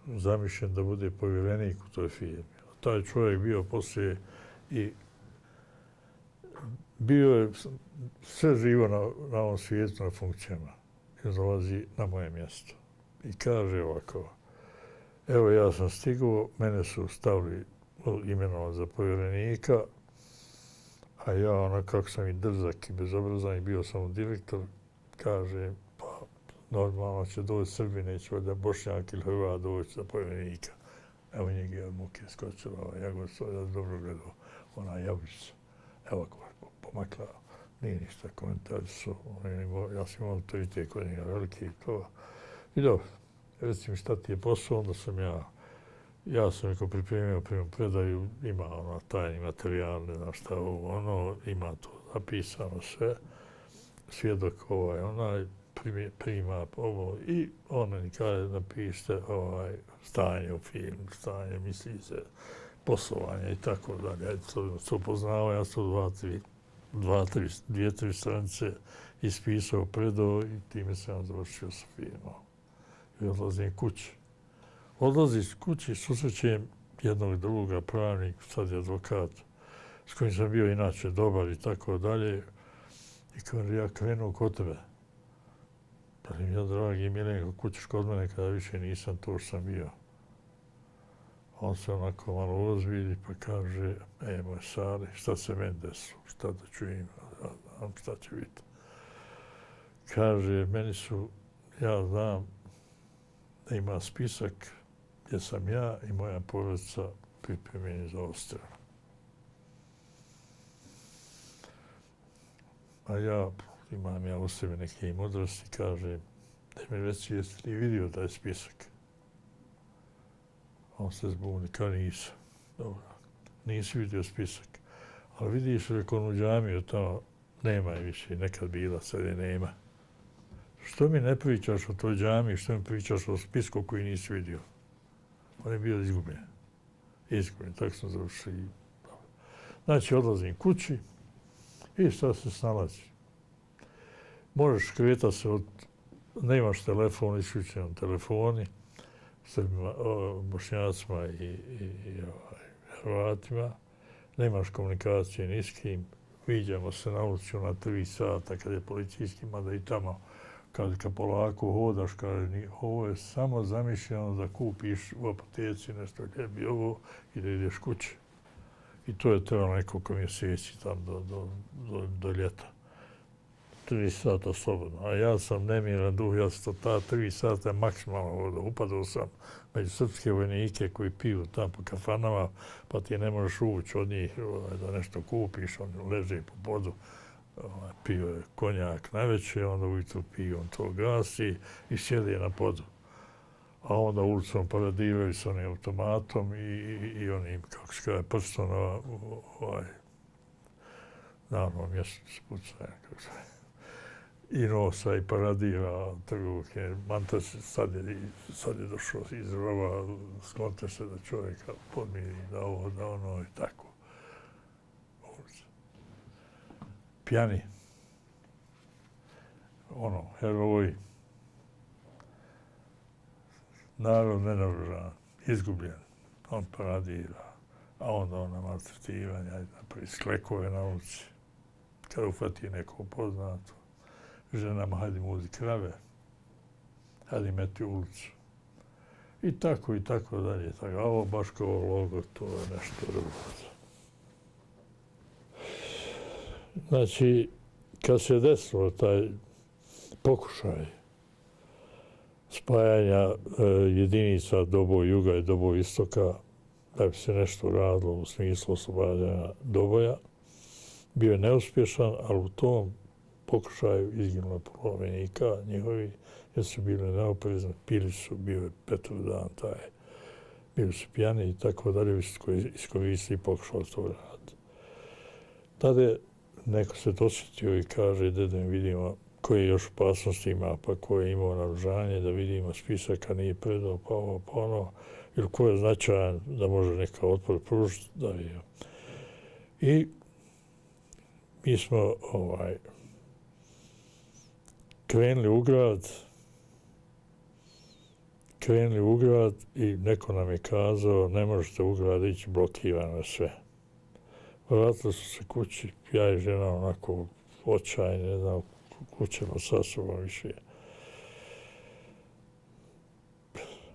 zamišljen da bude povjerenik u toj firmi. Taj čovjek bio poslije i bio je sve živo na, na ovom svijetu, na funkcijama. I dolazi na moje mjesto. I kaže ovako, evo ja sam stigao, mene su stavili imenovati za povjerenika, a ja, ono, kako sam i drzak i bezobrazan i bio sam direktor, kaže, pa normalno će doći Srbi, neće da Bošnjak ili Hrvat doći za povjerenika. Evo njega je od muke skočila, ja go ja dobro gledao, ona jabučica. Evo ko pomakla, nije ništa, komentari su, ja sam imao autoritet kod njega veliki i to. I dobro, reci mi šta ti je posao, onda sam ja, ja sam neko pripremio prema predaju, ima ono tajni materijal, ne znam šta ovo, ono, ima to zapisano sve, svjedok ovaj, onaj, prima ovo i on meni kaže napišite ovaj, stanje u filmu, stanje, misli se, poslovanje i tako dalje. Ja to, to poznao, ja sam dva, tri, dva, tri, dvije, tri stranice ispisao, predao i time sam završio sa filmom. I odlazim kući. Odlaziš kući, susrećem jednog druga pravnik, sad je advokat, s kojim sam bio inače dobar i tako dalje. I kaže, ja krenuo kod tebe. Pa mi ja, dragi Milenko, kućiš kod mene kada više nisam to što sam bio. On se onako malo ozbilji pa kaže, e, moj Sari, šta se meni desilo, šta da čujem, šta će biti. Kaže, meni su, ja znam da ima spisak gdje sam ja i moja porodica pripremljeni za odstrel. A ja, imam ja u sebi neke mudrosti, kaže, da mi reci, jesi li vidio taj spisak? On se zbuni, kao nisam. Dobro, nisi vidio spisak. Ali vidiš rekao u džamiju, tamo nema je više, nekad bila, sad je nema. Što mi ne pričaš o toj džamiji, što mi pričaš o spisku koji nisi vidio? On je bio izgubljen. Izgubljen, tako sam završio. Znači, odlazim kući i šta se snalazi. Možeš kretati se od, nemaš telefon, isključen telefoni, Srbima, Bošnjacima i, i, i ovaj, Hrvatima, nemaš komunikacije ni s kim, viđamo se na ulici na tri sata kad je policijski, mada i tamo kad, kad polako hodaš, kaže, ovo je samo zamišljeno da kupiš u apoteci nešto ljebi ovo i da ideš kući. I to je trebalo nekoliko mjeseci tam do, do, do, do ljeta. Tri sata slobodno. A ja sam nemiran duh, ja sam ta tri sata maksimalno hodao. Upadao sam među srpske vojnike koji piju tam po kafanama, pa ti ne možeš ući od njih da nešto kupiš, oni leže po podu. Pio je konjak najveće, onda ujutro piju, on to gasi i sjedi na podu. A onda ulicom paradiraju s onim automatom i, i, i onim, kako se kaže, prstom na ovaj, na onom mjestu se pucaja, kako se i nosa i paradira trgovke. Manta se sad je, sad je došao iz rova, sklonte se da čovjeka podmiri, da ovo, da ono i tako. Pjani. Ono, heroji. Narod nenaoružan, izgubljen. On paradira, a onda ona maltretiranja, napravi sklekove na ulici. Kada ufati neko poznato, ženama hajde muzi krave, hajde meti ulicu. I tako i tako dalje. Tako, a ovo baš kao logo, to je nešto drugo. Znači, kad se desilo taj pokušaj spajanja e, jedinica Doboj juga i Doboj istoka, da bi se nešto radilo u smislu oslobađanja Doboja, bio je neuspješan, ali u tom pokušaju izginulo pola vojnika njihovi, jer su bili neoprezni, pili su, bio je Petrov dan taj, bili su pijani i tako dalje, iskoristili i pokušali to raditi. Tada je neko se dosjetio i kaže, da mi vidimo koje još opasnosti ima, pa ko je imao naoružanje, da vidimo spisak, a nije predao, pa ovo, pa ono, ili ko je značajan da može neka otpor pružiti, da vidimo. I mi smo ovaj, krenuli u grad, krenuli u grad i neko nam je kazao, ne možete u grad ići, blokirano je sve. Vratili su se kući, ja i žena onako očajni, ne znam, kućemo sa sobom više.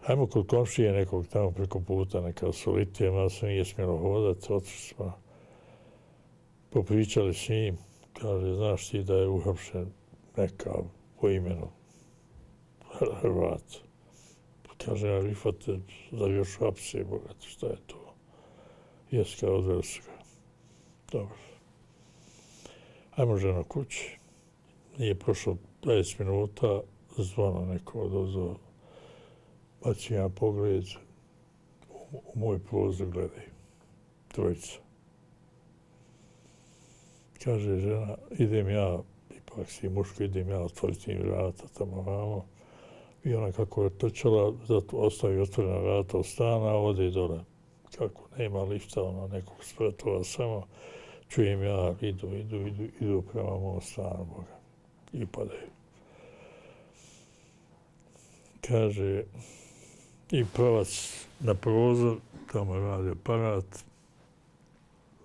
Hajmo kod komšije nekog tamo preko puta, neka solitija, malo se nije smjelo hodati, otišli smo, popričali s njim, kaže, znaš ti da je uhapšen neka po imenu Hrvat. Kaže, a Rifate, zar još hapse, bogati, šta je to? Jes, kao odveli su ga. Dobro. Hajmo žena kući. Nije prošlo dvadeset minuta, zvono neko odozvao, baci jedan pogled, u, u moj prozor gledaju. Trojica. Kaže žena, idem ja, ipak si muško, idem ja otvoriti im vrata tamo vamo. I ona kako je trčala, zato ostavi otvorena vrata od stana, ode dole. Kako nema lifta, ono nekog spratova, samo čujem ja, idu, idu, idu, idu prema mom stanu, Boga. I padaju. Kaže, i pravac na prozor, tamo je radio aparat,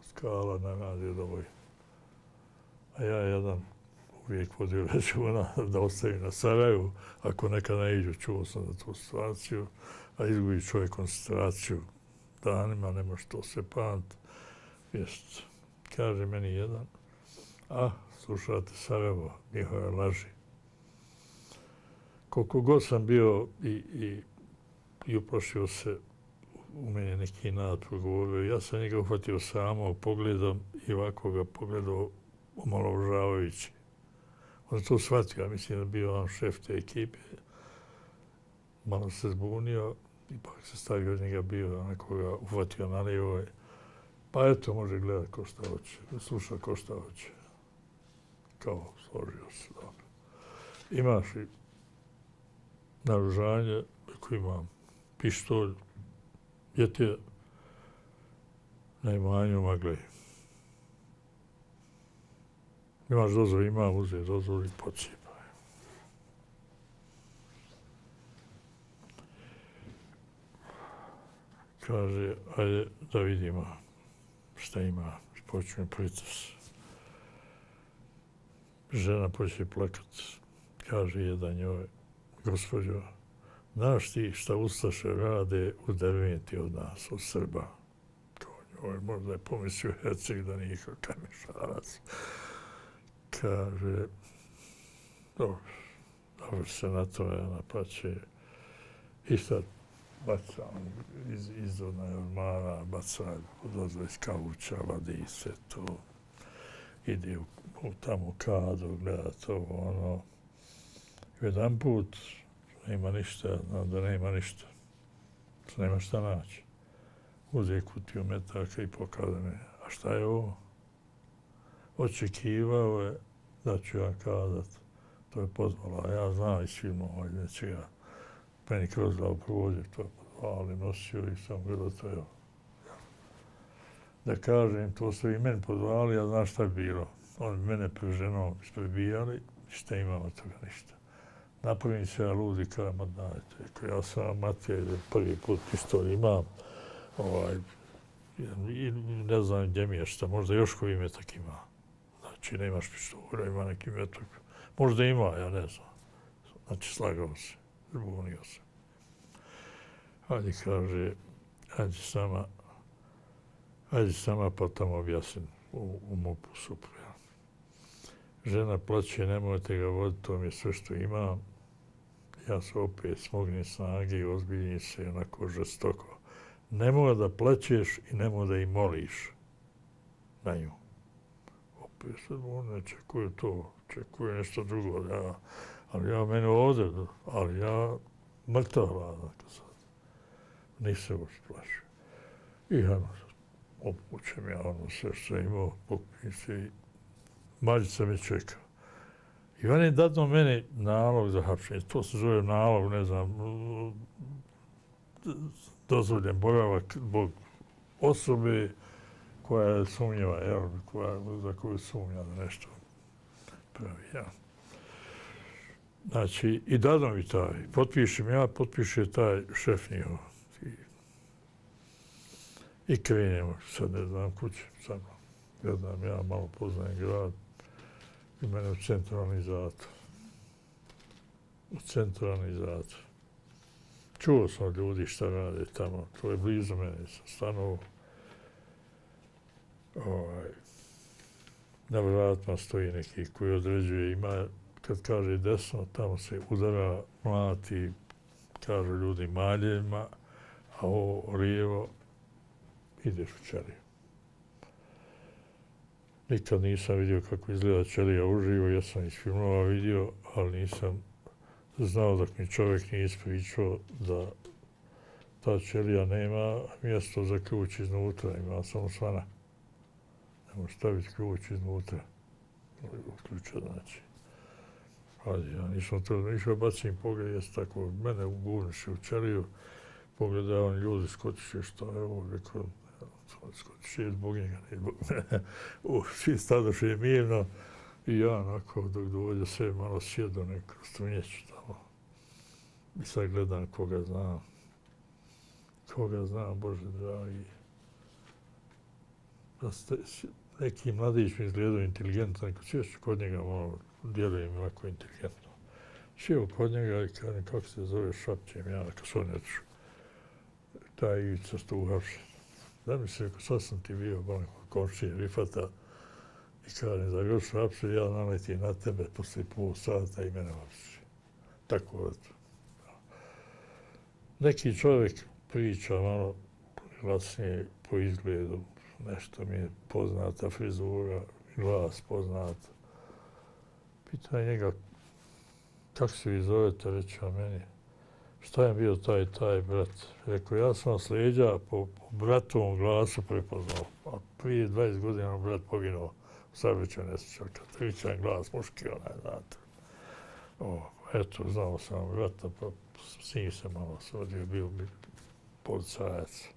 skala na radio Doboj. A ja jedan uvijek vodio računa da ostavim na Sarajevu, ako nekad ne iđu, čuo sam za tu situaciju, a izgubi čovjek koncentraciju danima, ne može to sve pamati. Jest, kaže meni jedan, a, slušate Sarajevo, njihove laži. Koliko god sam bio i, i, i uplašio se, u meni neki nad progovorio, ja sam njega uhvatio samo pogledom i ovako ga pogledao omalovažavajući. On je to shvatio, ja mislim da bio on šef te ekipe. Malo se zbunio, ipak se stavio od njega bio, nekoga uhvatio na lijevo. Pa eto, može gledati ko šta hoće, sluša ko šta hoće. Kao, složio se, dobro. Imaš i naoružanje, ako imam pištolj, je ti na imanju magle. Imaš dozvol, imam, uzeti dozvol i pocijepaj. Kaže, ajde da vidimo šta ima, počne pricas. Žena počne plakat, kaže jedan njoj, gospođo, znaš ti šta Ustaše rade u Derventi od nas, od Srba? Kao njoj, možda je pomislio Herceg da nije kao Kamišarac. Kaže, dobro, dobro se na to, ona pa će, i sad baca iz, iz onaj ormara, baca odozve iz kavuća, vadi sve to, ide u, u tamo kadu, gleda to, ono. Jedan put nema ništa, znam da nema ništa. Nema šta naći. Uze kutiju metaka i pokaza me, a šta je ovo? Očekivao je da ću ja kazat. To je pozvala, a ja znam iz filmova iz nečega. Meni kroz glavu provođe, to je pozvala, ali nosio i sam gledao to je. Da kažem, to su i meni pozvali, ja znam šta je bilo. Oni mene pred ženom isprebijali, šta imamo toga ništa. Napravim se ja ludi, kada ma dajte. Ja sam Matija, prvi put pištolj imam, ovaj, i ne znam gdje mi je šta, možda još koji metak ima. Znači, nemaš pištolja, ima neki metak. Možda ima, ja ne znam. Znači, slagao se, zbunio se. hajde, kaže, hajde s nama, hajde s nama pa tamo objasnim u, u MUP-u supru. Žena plaće, nemojte ga voditi, to mi je sve što imam. Ja se opet smognim snage i ozbiljnim se onako žestoko. Nemoj da plaćeš i nemoj da i moliš na nju. Opet sad on ne čekuje to, čekuje nešto drugo. Ja, ali ja mene ovdje, ali ja mrtav hladan sad. Nisam uopće plašio. I ono, opućem ja ono sve što imao, pokupim se i Mađica me čeka. I on je dadno meni nalog za hapšenje. To se zove nalog, ne znam, dozvoljen boravak zbog osobe koja je sumnjiva, jel, koja, za koju sumnja da nešto pravi. Ja. Znači, i dadno mi taj. Potpišem ja, potpiše taj šef njihov. I, i krenemo, sad ne znam kuće, sad gledam, ja malo poznajem grad. I mene u centralni zatvor. U centralni zatvor. Čuo sam ljudi šta rade tamo. To je blizu mene. Sam stanovao. Ovaj, na vratima stoji neki koji određuje. Ima, kad kaže desno, tamo se udara, mlati, kažu ljudi maljevima, a ovo lijevo ideš u ćeliju. Nikad nisam vidio kako izgleda ćelija uživo, ja sam iz filmova vidio, ali nisam znao dok mi čovjek nije ispričao da ta ćelija nema mjesto za ključ iznutra, ima samo svana. Ne može staviti ključ iznutra. Ključa znači. Ali ja nisam to išao, bacim pogled, jes tako, mene ugurniše u ćeliju, pogledavam ljudi skočiše što je ovo, rekao, skočiše zbog njega, ne zbog mene. Uh, svi stadoše mirno i ja onako dok dođe sve malo sjedo neku strunjeću tamo. I sad gledam koga znam. Koga znam, Bože dragi. Neki mladić mi izgledao inteligentan, kad sješću kod njega malo, djeluje mi lako inteligentno. Sjeo kod njega i kažem kako se zove, šapćem ja, kad su oni otišu. Taj Ivica što uhapšen. Da mi se, sad sam ti bio, bolim komšije Rifata i kažem, za još hapše, ja naletim na tebe posle pol sata i mene hapše. Tako eto. Neki čovjek priča malo glasnije po izgledu, nešto mi je poznata frizura, glas poznat. Pita njega, kako se vi zovete, reći o meni. Šta je bio taj taj brat? Rekao, ja sam vas leđa po, po bratovom glasu prepoznao. A prije dvadeset godina brat poginuo u saobraćajnoj nesreći. Katričan glas, muški onaj, znate. O, eto, znao sam brata, pa s njim se malo svodio, bio bi policajac.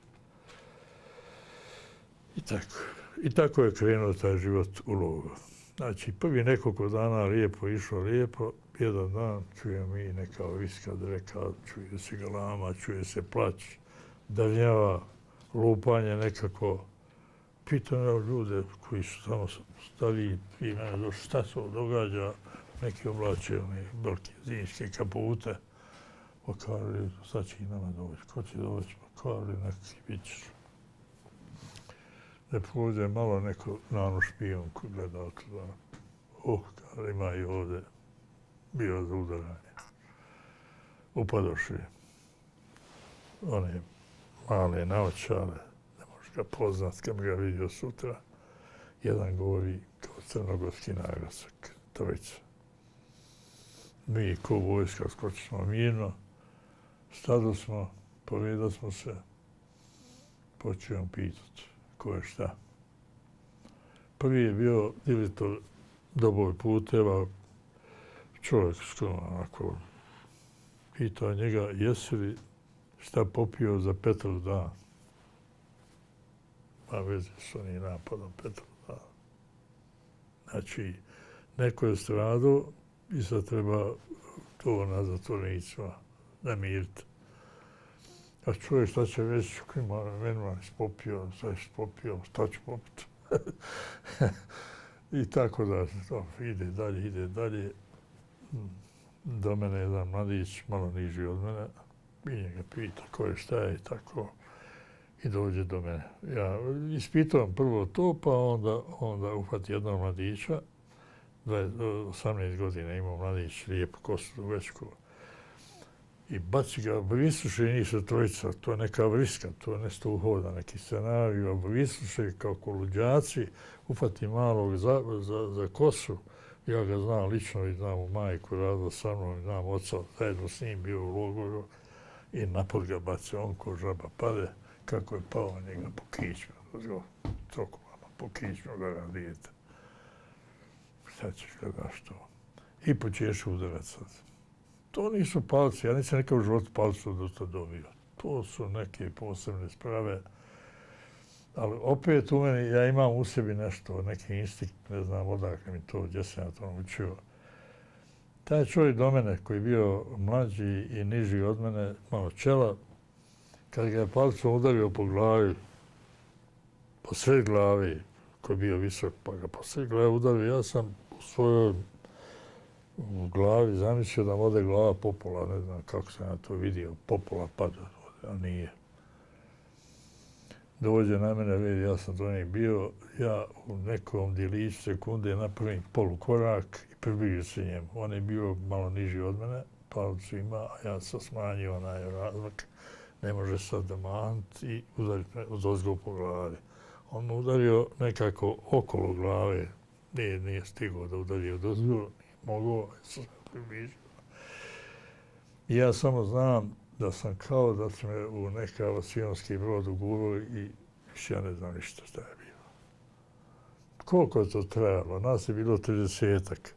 I tako. I tako je krenuo taj život u logoru. Znači, prvi nekoliko dana lijepo išlo, lijepo. Jedan dan čujem mi neka viska dreka, čuje se galama, čuje se plać, davnjava, lupanje nekako. Pitam ja ljude koji su tamo stali i mene došli, šta se događa, neki oblače, one velike zimske kapute. Pa kaže, sad će i nama doći, ko će doći, pa kaže, neki bit ćeš. Ne prođe malo neko nano špijon koji gleda otuda. Oh, kaže, ima i ovdje. Bio za udaranje. Upadoši one male naočale, ne možeš ga poznat kad ga vidio sutra. Jedan govori kao crnogorski naglasak, trojica. Mi ko vojska skočimo mirno, stado smo, povedali smo se, počeo pitat ko je šta. Prvi je bio direktor Doboj puteva, čovjek što onako pitao njega, jesi li šta popio za Petrov dan? Ma veze s onim napadom Petrov dan. Znači, neko je stradao i sad treba to na zatvornicima namiriti. A čovjek šta će reći, klima, meni vam popio, šta ću popio, šta ću popiti? I tako da to, ide dalje, ide dalje. Do mene jedan mladić, malo niži od mene, i njega pita ko je šta je i tako. I dođe do mene. Ja ispitavam prvo to, pa onda, onda uhvati jednog mladića, osamnaest godina imao mladić, lijepu kosu dugačku, i baci ga, obavisuše nisu trojica, to je neka vriska, to je nešto uhoda, neki scenarij, obavisuše kao koluđaci, uhvati malog za, za, za kosu, ja ga znam lično i znam u majku, radila sa mnom, znam oca, zajedno s njim bio u logoru i napod ga baci, on ko žaba pade, kako je pao njega po kičmu, trokulama, po kičmu ga radijete. Šta ćeš ga daš to? I počeš udarat sad. To nisu palci, ja nisam nekao u životu palcu do to dobio. To su neke posebne sprave. Ali opet u meni, ja imam u sebi nešto, neki instinkt, ne znam odakle mi to, gdje sam ja to naučio. Taj čovjek do mene koji je bio mlađi i niži od mene, malo čela, kad ga je palcom udario po glavi, po sred glavi, koji je bio visok, pa ga po sred glavi udario, ja sam u svojoj u glavi zamislio da ode glava popola, ne znam kako sam ja to vidio, popola pada, a nije. Dođe na mene, vidi, ja sam do njeg bio, ja u nekom djeliću sekunde napravim polukorak i približio se njemu. On je bio malo niži od mene, palicu ima, a ja sam smanjio onaj razmak. Ne može sad da mant i udariti me od ozgo po glavi. On me udario nekako okolo glave, nije, nije stigao da udari od ozgo, nije mogao, sam približio. I ja samo znam da sam kao da su me u neka avijonski brod ugurali i više ja ne znam ništa šta je bilo. Koliko je to trajalo? Nas je bilo tridesetak.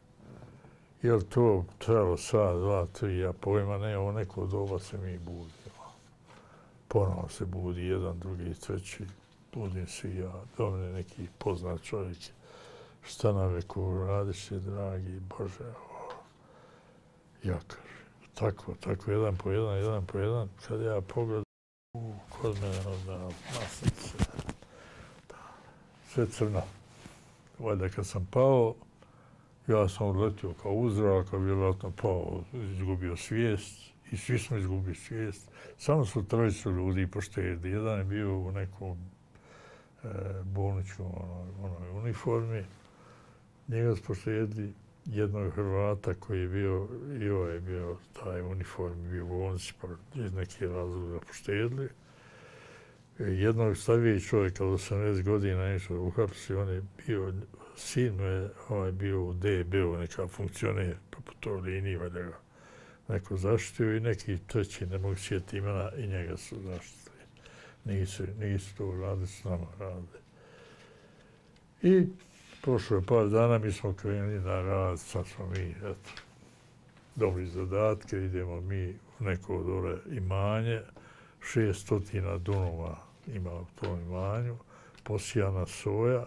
Je li to trajalo sat, dva, tri, ja pojma ne, ovo neko doba se mi budimo. Ponovno se budi jedan, drugi, treći, budim se i ja, do mene neki poznat čovjek. Šta na veku radiš je, dragi Bože, o, ja kažem. Tako, tako, jedan po jedan, jedan po jedan. Kad ja pogledam, u, kod mene onda masnice, sve crno. Valjda kad sam pao, ja sam odletio kao uzrak, a vjerojatno pao, izgubio svijest i svi smo izgubili svijest. Samo su trojicu ljudi poštedili. Jedan je bio u nekom e, bolničkom onoj, onoj uniformi. Njega su poštedili jednog Hrvata koji je bio, i ovaj je bio taj uniform, bio u bolnici, pa iz neke razloga poštedili. Jednog stariji čovjeka od osamnaest godina išao uhapsi, on je bio, sin je ovaj bio u D B-u, neka funkcioner, pa po toj liniji valjda ga neko zaštitio i neki treći, ne mogu sjetiti imena, i njega su zaštitili. Nisu, nisu to radili, s nama radili. I prošlo je par dana, mi smo krenuli na rad, sad smo mi, eto, dobili zadatke, idemo mi u neko dole imanje, šeststotina dunova ima u tom imanju, posijana soja,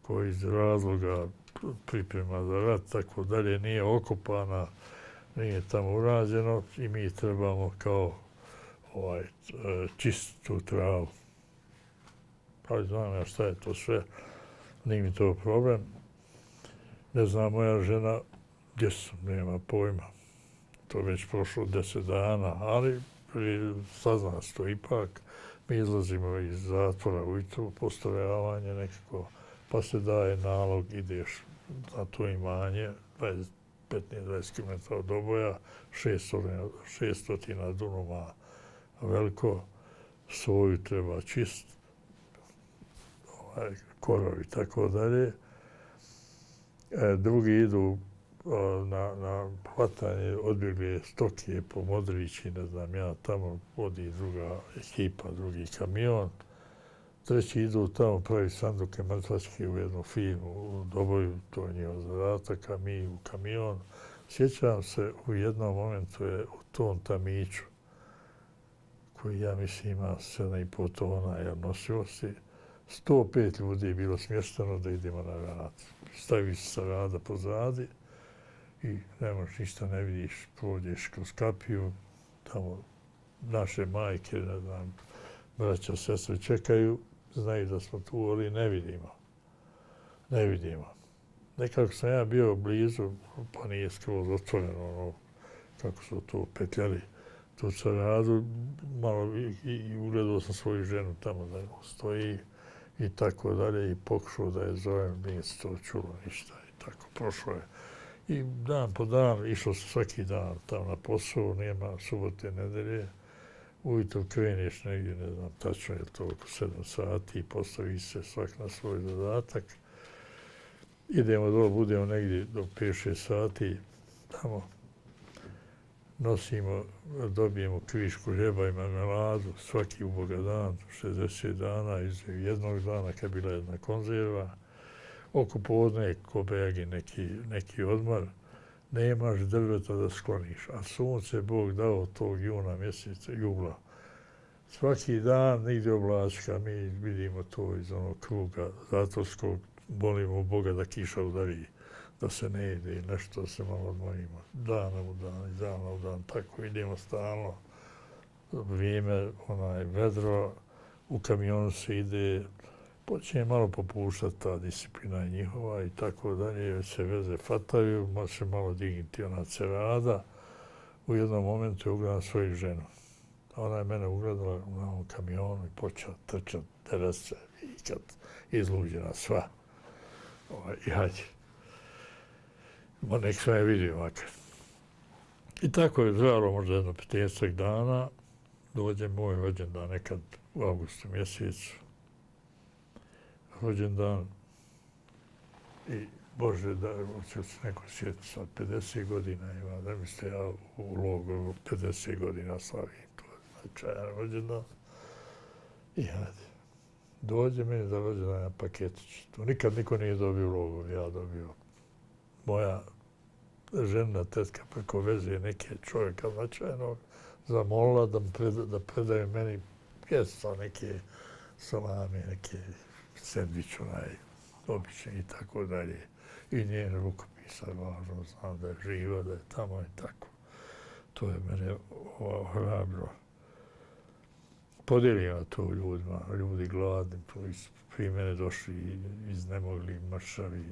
koja iz razloga priprema za rat, tako dalje, nije okopana, nije tamo urađeno i mi trebamo kao ovaj, čistiti tu travu. Pa znam ja šta je to sve, nije mi to problem. Ne znam, moja žena, gdje sam, nema pojma. To je već prošlo deset dana, ali sazna se to ipak. Mi izlazimo iz zatvora ujutru, postrojavanje nekako, pa se daje nalog, ideš na to imanje, petnaest do dvadeset kilometara od oboja, šeststotina dunoma veliko, soju treba čist, ovaj, korovi i tako dalje. E, drugi idu na, na hvatanje odbjegle stoke po Modrići, ne znam ja, tamo vodi druga ekipa, drugi kamion. Treći idu tamo pravi sanduke mrtvačke u jednu firmu u Doboju, to je njihov zadatak, a mi u kamion. Sjećam se, u jednom momentu je u tom tamiću, koji ja mislim ima sedam i pol tona jer nosivosti, sto pet ljudi je bilo smješteno da idemo na rad. Staviš se sa rada pozadi i ne možeš ništa, ne vidiš, prođeš kroz kapiju, tamo naše majke, ne znam, braća, sestre čekaju, znaju da smo tu, ali ne vidimo. Ne vidimo. Nekako sam ja bio blizu, pa nije skroz otvoreno, ono, kako su to petljali, tu Saradu, malo i, i ugledao sam svoju ženu tamo da stoji i tako dalje i pokušao da je zovem, nije se to čulo ništa i tako prošlo je. I dan po dan, išao sam svaki dan tamo na posao, nema subote, nedelje. Ujutro kreneš negdje, ne znam, tačno je to oko sedam sati i postavi se svak na svoj zadatak. Idemo dole, budemo negdje do pet šest sati, tamo nosimo, dobijemo kvišku hljeba i marmeladu, svaki uboga dan, šezdeset dana, iz jednog dana kad je bila jedna konzerva. Oko podne, ko begi neki, neki odmor, nemaš drveta da skloniš, a sunce Bog dao tog juna mjeseca, jula. Svaki dan nigdje oblačka, mi vidimo to iz onog kruga zatvorskog, molimo Boga da kiša udari, da se ne jede i nešto se malo odmorimo. Dana u dan, iz dana u dan, tako idemo stalno. Vrijeme, onaj vedro, u kamionu se ide, počinje malo popuštati ta disciplina je njihova i tako dalje, već se veze fataju, može se malo dignuti ona cerada. U jednom momentu je ugledala svoju ženu. Ona je mene ugledala na ovom kamionu i počela trčati, terat se i kad izluđena sva. Ovaj, i hađe. Ma nek sam je vidio makar. I tako je trajalo možda jedno petnaestak dana. Dođe moj rođendan nekad u avgustu mjesecu. Rođendan i Bože, da će se neko sjetiti sad, pedeset godina ima, da mi ste ja u logoru pedeset godina slavim, to je značajan rođendan. I hajde, dođe meni za rođendan na paketić. To nikad niko nije dobio u logoru, ja dobio. Moja žena, tetka preko veze neke čovjeka značajnog zamolila da, preda, da predaju meni pjestva, neke salame, neke sendvič, onaj, obični i tako dalje. I njen rukopis je važno, znam da je živa, da je tamo i tako. To je mene ohrabro. Podijelila to ljudima, ljudi gladni, prije mene došli iznemogli, mršavi.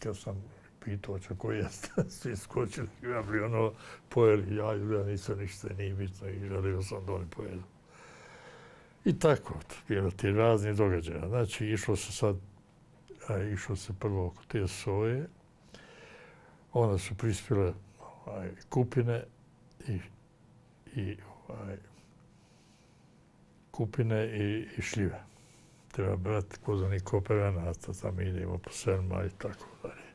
Kad sam pitao će ko jeste, svi skočili, ja bi ono pojeli, ja, ja nisam ništa, nije bitno i želio sam da oni pojedu. I tako, bilo ti razni događaja. Znači, išlo se sad, a, išlo se prvo oko te soje, onda su prispjele ovaj, kupine i, i ovaj, kupine i, i šljive. Treba brati kod onih kooperanata, tam idemo po selma i tako dalje.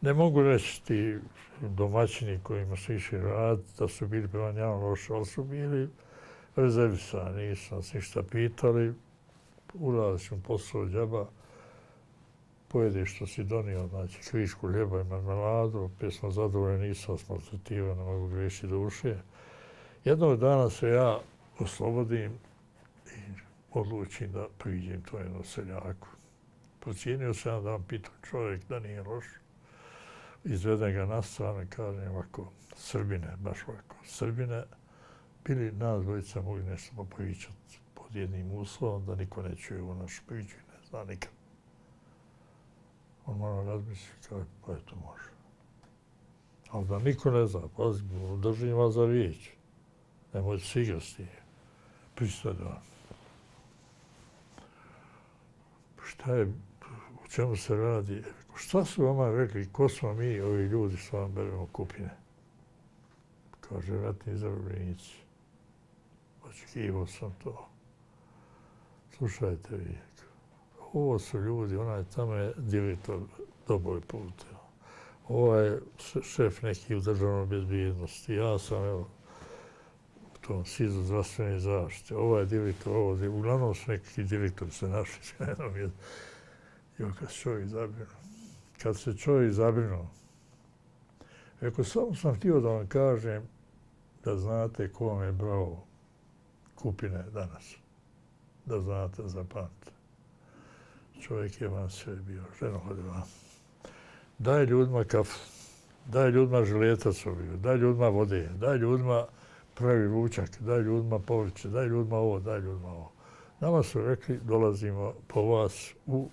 Ne mogu reći ti domaćini kojima su išli rad, da su bili prema njama loše, ali su bili rezervisani, nisu nas ništa pitali, uradili smo posao džaba, pojedeš što si donio, znači kvišku hljeba i marmeladu, opet smo zadovoljni, nisam smaltretivan, ne mogu grešiti duše. Jednog dana se ja oslobodim i odlučim da priđem to jednom seljaku. Procijenio sam da vam pitam čovjek da nije loš. Izvedem ga na stranu i kažem ovako, Srbine, baš ovako, Srbine, bili nas dvojica mogli nešto popričati pod jednim uslovom, da niko ne čuje u našu priču i ne zna nikad. On malo razmišlja kao, pa eto može. Ali da niko ne zna, pazi, držim vas za riječ. Nemojte se igrati s njim. Pristaje da vam. Šta je, u čemu se radi? Šta su vama rekli, ko smo mi, ovi ljudi, što vam beremo kupine? Kaže, ratni zarobljenici. Očekivao sam to. Slušajte vi, ovo su ljudi, onaj tamo je direktor Doboj puteva. Ovo je šef neki u državnoj bezbjednosti. Ja sam, evo, u tom sizu zdravstvene zaštite. Ovo je direktor, ovo je, uglavnom su neki direktori se našli s jednom. I kad se čovjek zabrinuo. Kad se čovjek zabrinuo, rekao, samo sam htio da vam kažem da znate ko vam je brao kupine danas. Da znate, zapamtite. Čovjek je vam sve bio, ženo hodi vam. Daj ljudima kafu, daj ljudima žiletac obiju, daj ljudima vode, daj ljudima pravi ručak, daj ljudima povrće, daj ljudima ovo, daj ljudima ovo. Nama su rekli, dolazimo po vas u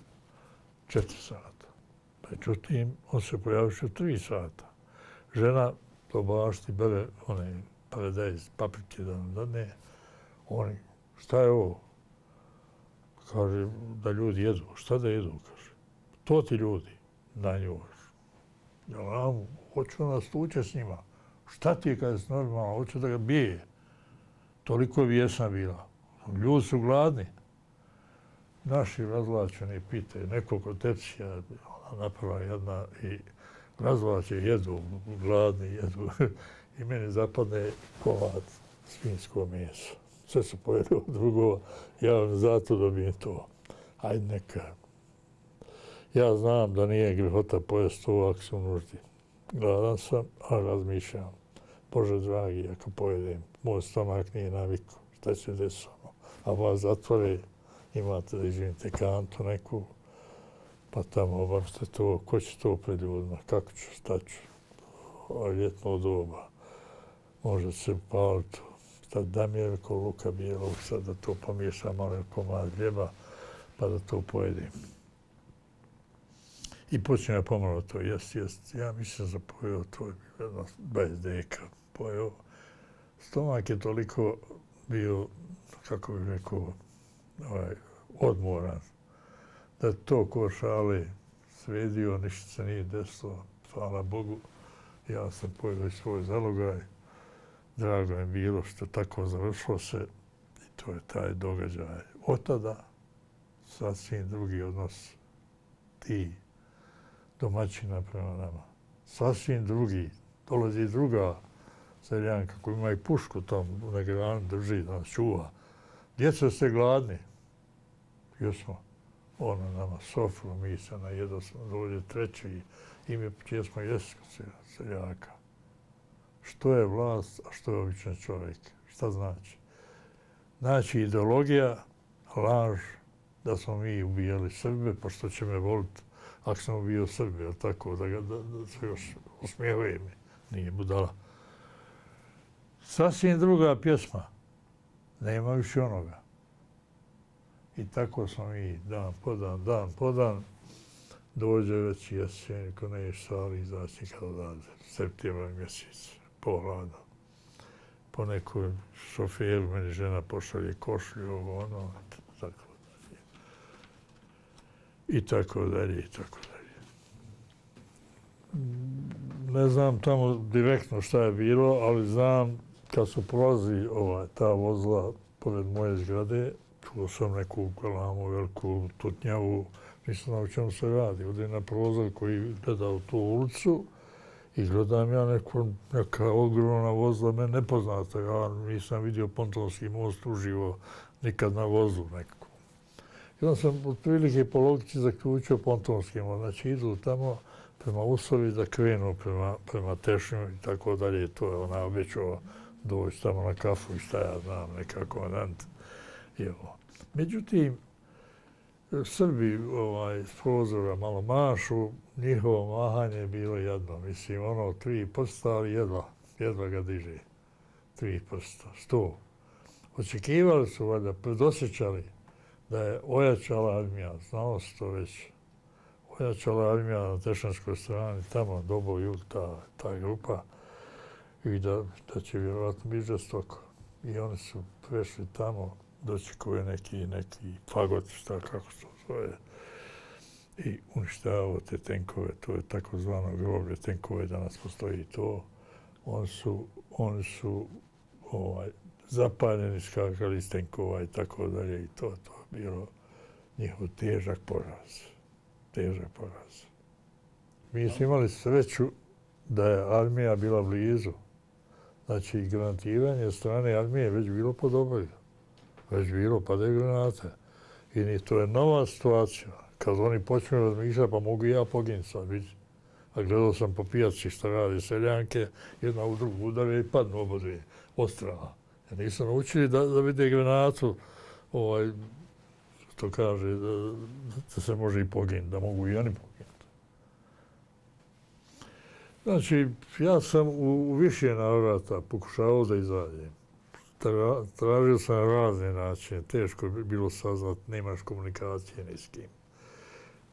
četiri sata. Međutim, on se pojavio u tri sata. Žena to bašti bere one paradajz, paprike da nam dadne. Oni, šta je ovo? Kaže, da ljudi jedu. Šta da jedu? Kaže, to ti ljudi na njoj. Ja nam, hoću nas tuče s njima. Šta ti je kada je normalno? Hoću da ga bije. Toliko je bijesna bila. Ljudi su gladni. Naši razvlačeni pitaju, nekoliko tepsija naprava jedna i razvlače, jedu, gladni, jedu. I meni zapadne komad svinjsko meso. Sve su pojeli od drugova, ja zato dobijem to. Ajde neka. Ja znam da nije grehota pojesti to ako sam nuždi. Gladan sam, a razmišljam. Bože dragi, ako pojedem, moj stomak nije naviku. Šta će desiti? A vas zatvore, imate da izvinite kantu neku, pa tamo obavite to, ko će to pred ljudima, kako ću, šta ću. Ovo je ljetno doba, može se upaliti, sad damjerko, luka bijelog, sad da to pomiješam malo komad hljeba, pa da to pojedim. I počnem ja pomalo to jest, jest. Ja mislim da pojeo to, jedno dvadeset deka pojeo. Stomak je toliko bio, kako bih rekao, ovaj, odmoran, da to ko šale svedio, ništa se nije desilo, hvala Bogu. Ja sam pojeo i svoj zalogaj. Drago je bilo što tako završilo se i to je taj događaj. Od tada sasvim drugi odnos ti domaćina prema nama. Sasvim drugi. Dolazi druga seljanka koja ima i pušku tam u negranu drži da nas čuva. Djeca ste gladni. Jesmo. Ona nama sofru, mi se najedo smo, dođe treći i mi čije smo jesko seljaka. Što je vlast, a što je običan čovjek? Šta znači? Znači ideologija, laž, da smo mi ubijali Srbe, pa što će me voliti ako sam ubio Srbe, ali tako, da, ga, da, da se još usmijevaju mi. Nije budala. Sasvim druga pjesma. Nema više onoga. I tako smo mi dan po dan, dan po dan, dođe već jesen, ko ne je stvari izaći nikad odavde. Septembra mjesec, pohlada. Po nekoj šoferu meni žena pošalje košlju, ovo ono, tako dalje. I tako dalje, i tako dalje. Ne znam tamo direktno šta je bilo, ali znam kad su prolazi ova, ta vozila pored moje zgrade, čuo sam neku galamu, veliku tutnjavu, nisam znao o čemu se radi. Ovdje na prozor koji gleda u tu ulicu i gledam ja neko, neka ogromna vozila, mene nepoznata. Ja nisam vidio Pontonski most uživo nikad na vozu nekako. I onda sam otprilike po logici zaključio Pontonski most. Znači idu tamo prema Usovi da krenu prema, prema Tešnju i tako dalje. To je ona obećao doći tamo na kafu i šta ja znam, neka komandant. Međutim, Srbi ovaj, s prozora malo mašu, njihovo mahanje je bilo jedno. Mislim, ono, tri prsta, ali jedva, jedva ga diže. Tri prsta, sto. Očekivali su, valjda, predosjećali da je ojačala armija, znalo se to već. Ojačala armija na Tešanskoj strani, tamo, Dobo, Jug, ta, ta grupa, i da, da će vjerovatno biti žestoko. I oni su prešli tamo, dočekuje neki, neki fagot, šta, kako se to zove, i uništavao te tenkove, to je takozvano groblje tenkove, danas postoji to. Oni su, oni su ovaj, zapaljeni, skakali iz tenkova i tako dalje i to, to je bilo njihov težak poraz. Težak poraz. Mi smo imali sreću da je armija bila blizu. Znači, granatiranje od strane armije već bilo podobno. Već bilo, padaju granate. I to je nova situacija. Kad oni počnu razmišljati, pa mogu i ja poginuti sad, vidi. A gledao sam po pijaci šta radi seljanke, jedna u drugu udare i padnu oba dvije, od strana. Ja nisam naučili da, da vide granatu, ovaj, što kaže, da, da se može i poginuti, da mogu i oni poginuti. Znači, ja sam u, u više navrata pokušao da izađem. Tra, tražio sam razne načine, teško je bilo saznat, nemaš komunikacije ni s kim.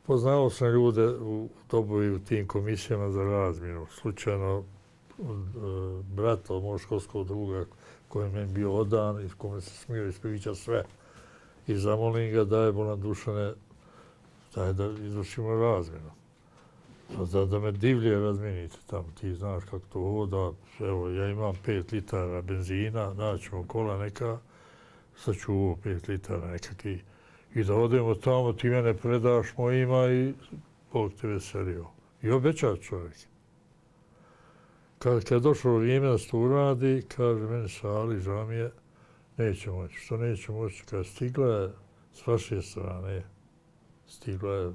Poznao sam ljude u dobu i u tim komisijama za razmjenu. Slučajno od uh, brata, od mojeg školskog druga, koji mi je bio odan i kome se smio ispriča sve. I zamolim ga, daj bolan Dušane, daj da izvršimo razmjenu. Da, da me divlje razmijenite tamo, ti znaš kako to voda. Evo, ja imam pet litara benzina, naćemo kola neka, sad ću ovo pet litara nekakvi. I da odemo tamo, ti mene predaš mojima i Bog te veselio. I obeća čovjek. Kad, kad je došlo vrijeme da se to uradi, kaže meni Sali, žao mi je, neće moći. Što neće moći? Kad stigla je s vaše strane, stigla je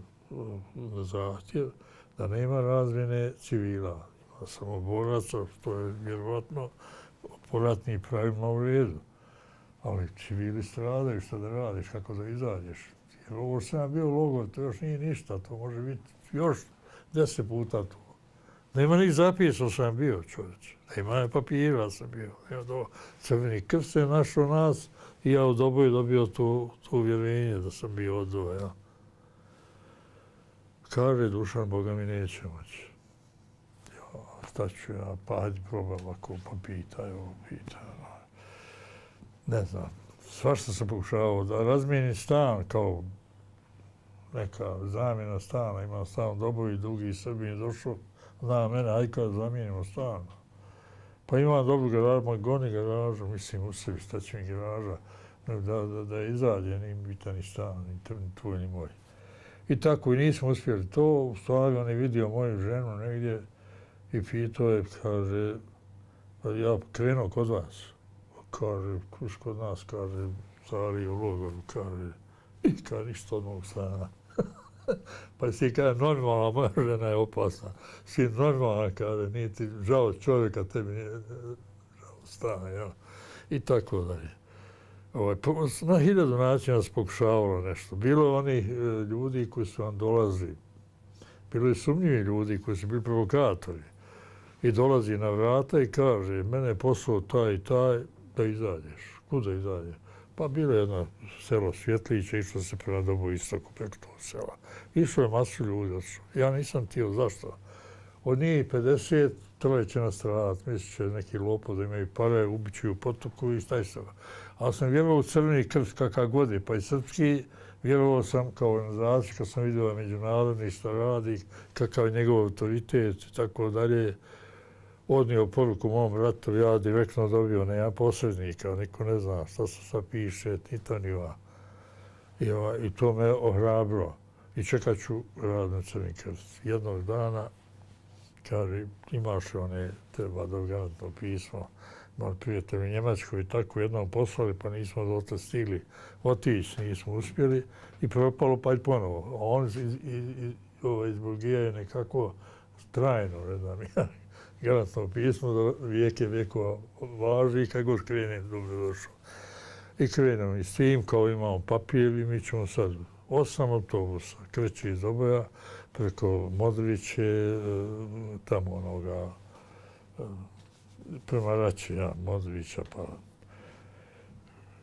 na zahtjev da nema razmjene civila. Ima samo boraca, što je vjerovatno po ratnim pravima u redu. Ali civili stradaju, šta da radiš, kako da izađeš. Jer ovo što sam bio logor, to još nije ništa, to može biti još deset puta to. Nema ni zapisao sam bio, čovječ. Nema papira sam bio. Evo do Crveni krst je našao nas i ja u Doboju dobio to, to uvjerenje da sam bio odvoja. Ja. Kaže Dušan, Boga mi neće moći. Ja, šta ću ja, pa hajde probam ako pa pitaj, ovo pitaj. Ne znam, svašta sam pokušavao da razmijenim stan kao neka zamjena stana. Imam stan u Doboju, drugi Srbi je došao, zna mene, aj kad zamijenimo stan. Pa imam dobru garažu, moj goni garažu, mislim u sebi, šta će mi garaža, da, da, da izađe, ni bitan ni stan, ni tvoj, ni moj. I tako i nismo uspjeli to, u stvari on je vidio moju ženu negdje i pitao je, kaže, pa ja krenuo kod vas. Kaže, kuš kod nas, kaže, stari u logoru, kaže, i kaže, ništa od mog stana. Pa si kaže, normalna, moja žena je opasna. Si normalna, kaže, nije ti žao čovjeka, tebi nije žao stana, jel? I tako dalje. Ovaj, na hiljadu načina se pokušavalo nešto. Bilo je onih ljudi koji su vam dolazili. Bilo je sumnjivi ljudi koji su bili provokatori. I dolazi na vrata i kaže, mene je poslao taj i taj, da izađeš. Kuda izađeš? Pa bilo je jedno selo Svjetliće, išlo se prema Dobu istoku preko tog sela. Išlo je masu ljudi. Ja nisam tijel, zašto? Od njih pedeset, troje će nastradati, mislit će neki lopov da imaju pare, ubit će u potoku i šta je sada. Ali sam vjerovao u Crveni krst kakav god je, pa i srpski, vjerovao sam kao organizaciju, kad sam vidio međunarodni šta radi, kakav je njegov autoritet i tako dalje. Odnio poruku mom bratu, ja direktno dobio, nema posrednika, niko ne zna šta se sad piše, ni to ni ova. I, ova, I to me ohrabro. I čekat ću rad na Crveni krst. Jednog dana, kaže, imaš one, treba dogarantno pismo, moj prijatelj u Njemačkoj i tako jednom poslali, pa nismo dotle stigli otići, nismo uspjeli i propalo pa i ponovo. A on iz, iz, iz, ovaj, iz Bulgije nekako trajno, ne znam, ja, garantno pismo do vijeke vijekova važi i kad god krenem dobro došao. I krenemo i s tim, kao imamo papir i mi ćemo sad osam autobusa, kreće iz Doboja, preko Modriće, tamo onoga, prema Rači, ja, Modrića, pa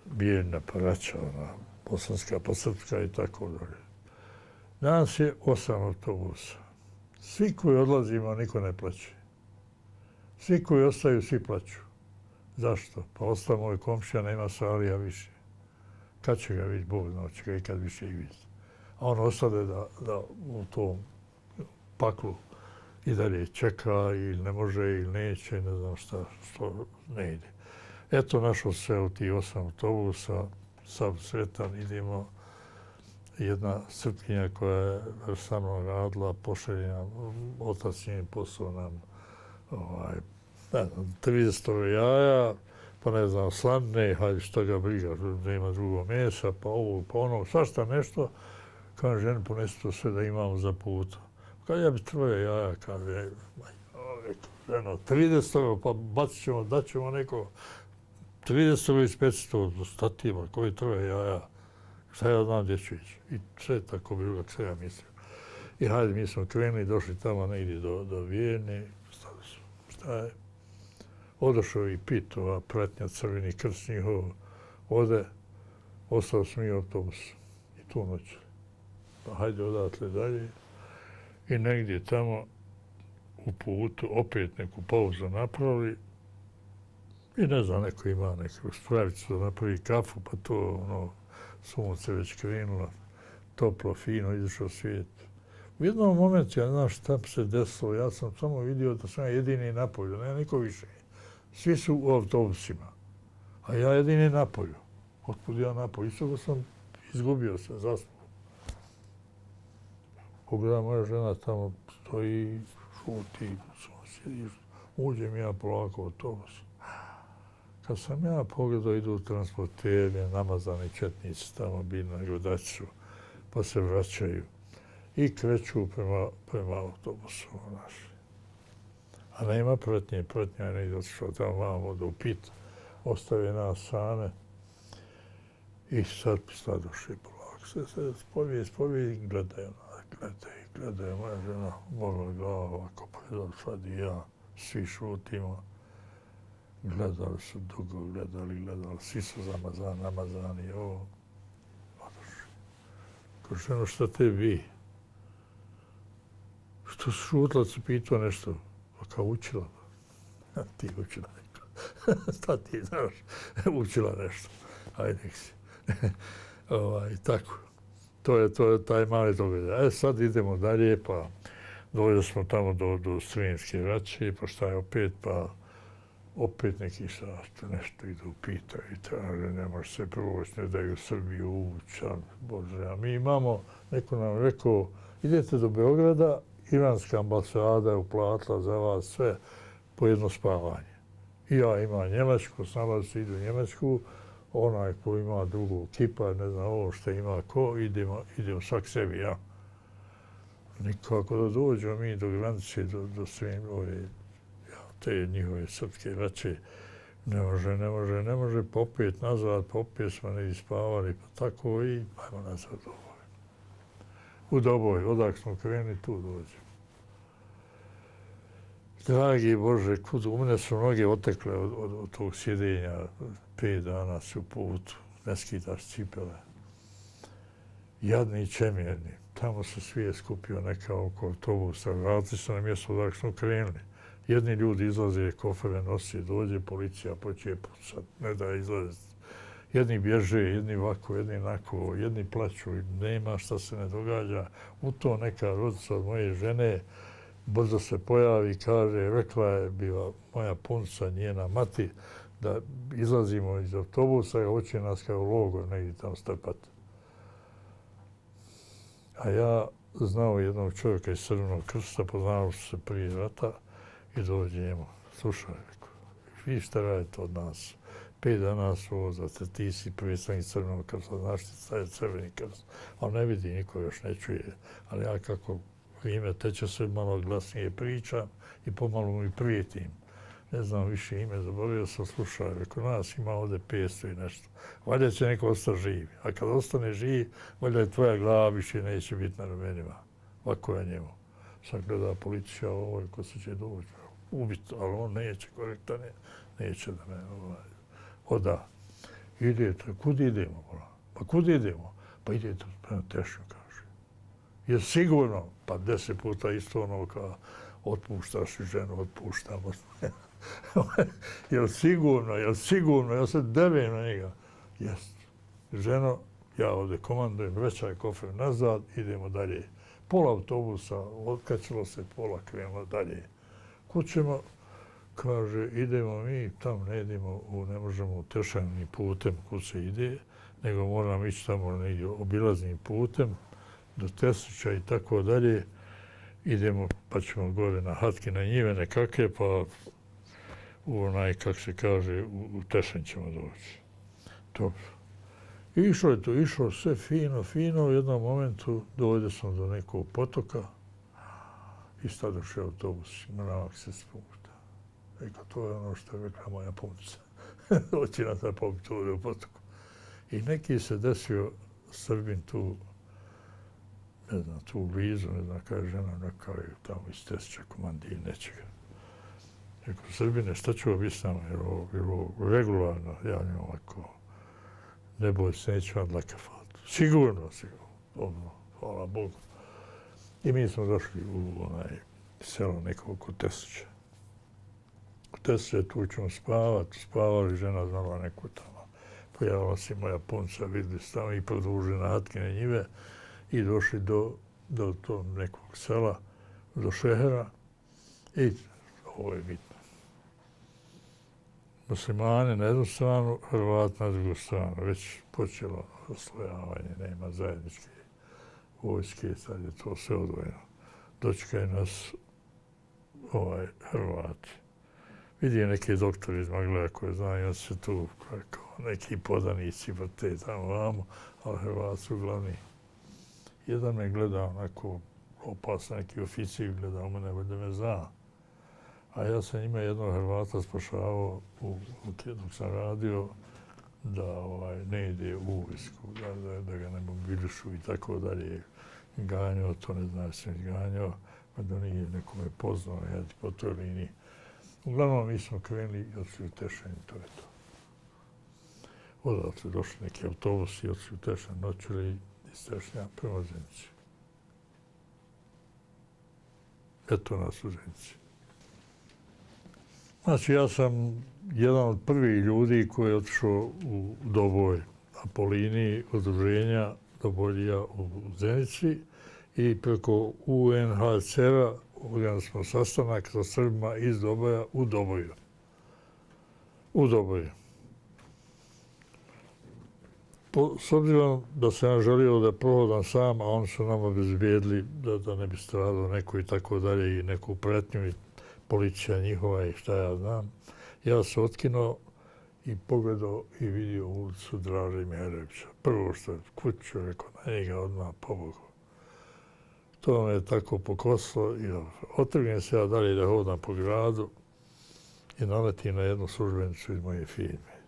Bijeljna, pa Rača, ona, Bosanska, pa Srpska i tako dalje. Nas je osam autobusa. Svi koji odlazimo, niko ne plaće. Svi koji ostaju, svi plaću. Zašto? Pa ostao moj komšija, nema Salija više. Kad će ga vidjeti, Bog zna, će ga i kad više i vidjeti. A on ostade da, da u tom paklu i dalje čeka ili ne može ili neće, ne znam šta, što ne ide. Eto, našao se u tih osam autobusa, sav sretan, idemo. Jedna Srpkinja koja je sa mnom radila, pošalje nam, otac njen posao nam, ovaj, ne znam, trideset jaja, pa ne znam, slanne, hajde što ga briga, nema drugo mesa, pa ovo, pa ono, svašta nešto. Kaže, ženi, ponesi to sve da imamo za puta. Kaže, ja bi troje jaja, kaže, ženo, trideset, pa bacit ćemo, daćemo neko trideset ili petsto, statima, koji troje jaja, šta ja znam gdje ću ići. I sve tako bilo, kako se ja mislim. I hajde, mi smo krenuli, došli tamo negdje do, do Vijene, šta je? Odošao i Pit, ova pratnja Crveni krst njihov, ode, ostao sam i autobus. I tu noć. Pa hajde odatle dalje. I negdje tamo u putu, opet neku pauzu napravili i ne znam, neko ima neku spravicu da napravi kafu, pa to ono, sunce već krenulo, toplo, fino, izašao svijet. U jednom momentu, ja znam šta se desilo, ja sam samo vidio da sam ja jedini napolju, ne niko više. Svi su u autobusima, a ja jedini napolju. Otkud ja napolju? Isto da sam izgubio se, zaspao. Pogledam, moja žena tamo stoji, šuti, sjedi, uđem ja polako u autobus. Kad sam ja pogledao, idu transporteri, namazani četnici tamo bili na gledaču, pa se vraćaju i kreću prema, prema autobusu. Naš. A nema pratnje, pratnja je negdje otišao tamo vamo do upita, ostave nas same i sad stadoše polako. Se, se spovije, spovije i gledaju, gledaju, gledaju. Moja žena mogla glava ovako, pa sad i ja, svi šutimo. Gledali su dugo, gledali, gledali, svi su zamazani, namazani, ovo. Odošli. Ko ženo, šta te bi? Što su šutila, se pitao nešto. Pa kao učila. Ti učila neko. Šta ti znaš? Učila nešto. Ajde, nek si. ovaj, tako. To je, to je taj mali događaj. E, sad idemo dalje, pa dođeli smo tamo do, do Srijemske vraće, pa šta je opet, pa opet neki sasto, nešto idu, pitaju i traže, ne može se proći, ne daju Srbiju ući, Bože, a mi imamo, neko nam rekao, idete do Beograda, iranska ambasada je uplatila za vas sve po jedno spavanje. I ja imam Njemačku, s nama se idu u Njemačku, onaj ko ima drugu kipa, ne znam ovo što ima ko, idemo, idemo svak sebi, ja. Nikako da dođemo mi do granice, do, do svim ove, te njihove srpske vraće, ne može, ne može, ne može, popet nazad, popet smo ne ispavali, pa tako i ajmo nazad u Doboj. U Doboj, odak smo krenuli, tu dođemo. Dragi Bože, kud, u mene su noge otekle od, od, od tog sjedenja, pet dana su u putu, ne skidaš cipele. Jadni i čemjerni, tamo se svijet skupio neka oko autobusa, vratili se na mjesto odak smo krenuli. Jedni ljudi izlaze, kofere nosi, dođe policija, počeje pucat, ne da izlaze. Jedni bježe, jedni ovako, jedni onako, jedni plaću, nema šta se ne događa. U to neka rodica od moje žene brzo se pojavi, kaže, rekla je bila moja punca, njena mati, da izlazimo iz autobusa i hoće nas kao logor negdje tamo strpati. A ja znao jednog čovjeka iz Crvenog krsta, poznao se prije rata, i dođe njemu, slušaj, vi šta radite od nas? Pet dana su vozate, ti si predstavnik Crvenog krsta, znaš ti šta je Crveni krst, on ne vidi, niko još ne čuje, ali ja kako ime teče sve malo glasnije pričam i pomalo mu i prijetim. Ne znam više ime, zaboravio sam, slušaj, rekao nas ima ovdje petsto i nešto. Valjda će neko ostati živ, a kad ostane živ, valjda je tvoja glava više neće biti na ramenima. Ovako je njemu. Sad gleda policija, ovo ko se će doći, ubiti, ali on neće, korektan je, neće da me ovaj, oda. Idete, kud idemo? Pa kud idemo? Pa idete prema Tešnju, kaže. Je sigurno, pa deset puta isto ono kao otpuštaš i ženu, otpuštamo. Jel sigurno, jel sigurno, ja se devim na njega. Jest. Ženo, ja ovdje komandujem, većaj kofer nazad, idemo dalje. Pola autobusa, otkačilo se, pola krenulo dalje. Kud ćemo, kaže, idemo mi, tamo ne idemo, ne možemo tešanim putem kud se ide, nego moramo ići tamo negdje obilaznim putem, do Teslića i tako dalje. Idemo, pa ćemo gore na hatke, na njive nekakve, pa u onaj, kak se kaže, u, u Tešan ćemo doći. Dobro. Išlo je to, išlo sve fino, fino, u jednom momentu dojde sam do nekog potoka i stadoše autobus, mrak se spušta. Eko, to je ono što je rekla moja punca. Hoće nas da pobiti ovdje u potoku. I neki se desio Srbin tu, ne znam, tu blizu, ne znam kada je žena, neka je tamo iz Tesća, komandije, nečega. Eko, Srbine, šta ću biti s nama, jer ovo bilo regularno, ja njom ovako, ne boj se, neću vam dlaka faliti. Sigurno, sigurno. Dobro, hvala Bogu. I mi smo došli u onaj selo neko oko Teslića. Kod Teslića tu ćemo spavati, spavali, žena znala neku tamo. Pojavila se moja punca, vidjeli se tamo i produžili na Hatkine njive i došli do, do tog nekog sela, do Šehera i ovo je bitno. Muslimani na jednu stranu, Hrvati na drugu stranu. Već počelo oslojavanje, nema zajedničke vojske, sad je to sve odvojeno. Dočekaju nas ovaj, Hrvati. Vidim neke doktori iz Magleda koje znaju, on se tu kao neki podanici, pa te tamo vamo, ali Hrvati su glavni. Jedan me gleda onako opasno, neki oficir gleda u mene, da me zna. A ja sam njima jednog Hrvata spašavao u, dok sam radio da ovaj, ne ide u vojsku, da, da, da ga ne mobilišu i tako dalje. Ganjao, to ne znam, sam ganjao, pa da nije nekome poznao, ja po toj liniji. Uglavnom, mi smo krenuli i odšli u Tešen, to je to. Odatle došli neki autobusi i odšli u Tešen, noćuli iz Tešnja prema Zenici. Eto nas u Zenici. Znači, ja sam jedan od prvih ljudi koji je otišao u Doboj, a po liniji udruženja Doboljija u Zenici i preko U N H C R-a organizovali smo sastanak sa Srbima iz Doboja u Doboju. U Doboju. Po, s obzirom da sam ja želio da prohodam sam, a oni su nam obezbijedili da, da ne bi stradao neko i tako dalje i neku pretnju i policija njihova i šta ja znam. Ja se otkinuo i pogledao i vidio ulicu Draže Mihajlovića. Prvo što je kuću, rekao na njega odmah pobogu. To me je tako pokosilo i otrgnem se ja dalje da hodam po gradu i naletim na jednu službenicu iz moje firme.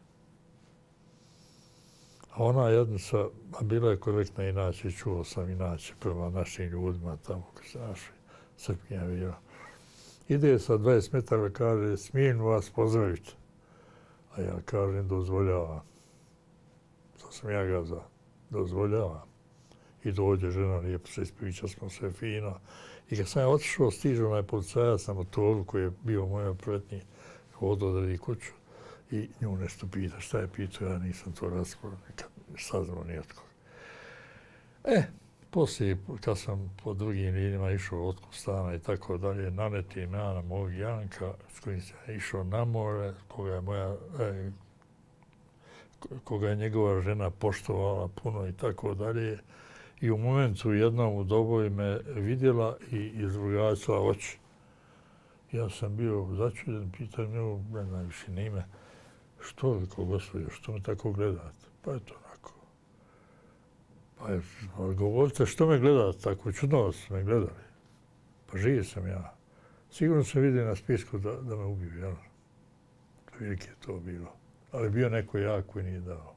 A ona jednica, a bila je korektna inače, čuo sam inače prema našim ljudima tamo koji se našli, Srpkinja bila. Ide sa dvadeset metara, kaže, smijem vas pozdraviti. A ja kažem, dozvoljavam. To sam ja ga za dozvoljavam. I dođe žena, lijepo se ispriča smo sve fino. I kad sam ja otišao, stižu onaj policajac na motoru koji je bio u mojoj pretnji, hodao da vidi kuću i nju nešto pita. Šta je pitao, ja nisam to raspravio, nikad saznao nijetko. E, poslije, kad sam po drugim linijama išao otkup stana i tako dalje, nanetim ja na mog Janka, s kojim sam išao na more, koga je moja, e, koga je njegova žena poštovala puno i tako dalje. I u momentu jednom u Doboju me vidjela i izrugačila oči. Ja sam bio začuden, pitam nju, ne znam više ni ime, što vi ko gospođo, što me tako gledate? Pa je to onako. Pa je, govorite, što me gledate tako? Čudno vas me gledali. Pa živ sam ja. Sigurno se vidi na spisku da, da me ubiju, jel? Velike je to bilo. Ali bio neko jak koji nije dao.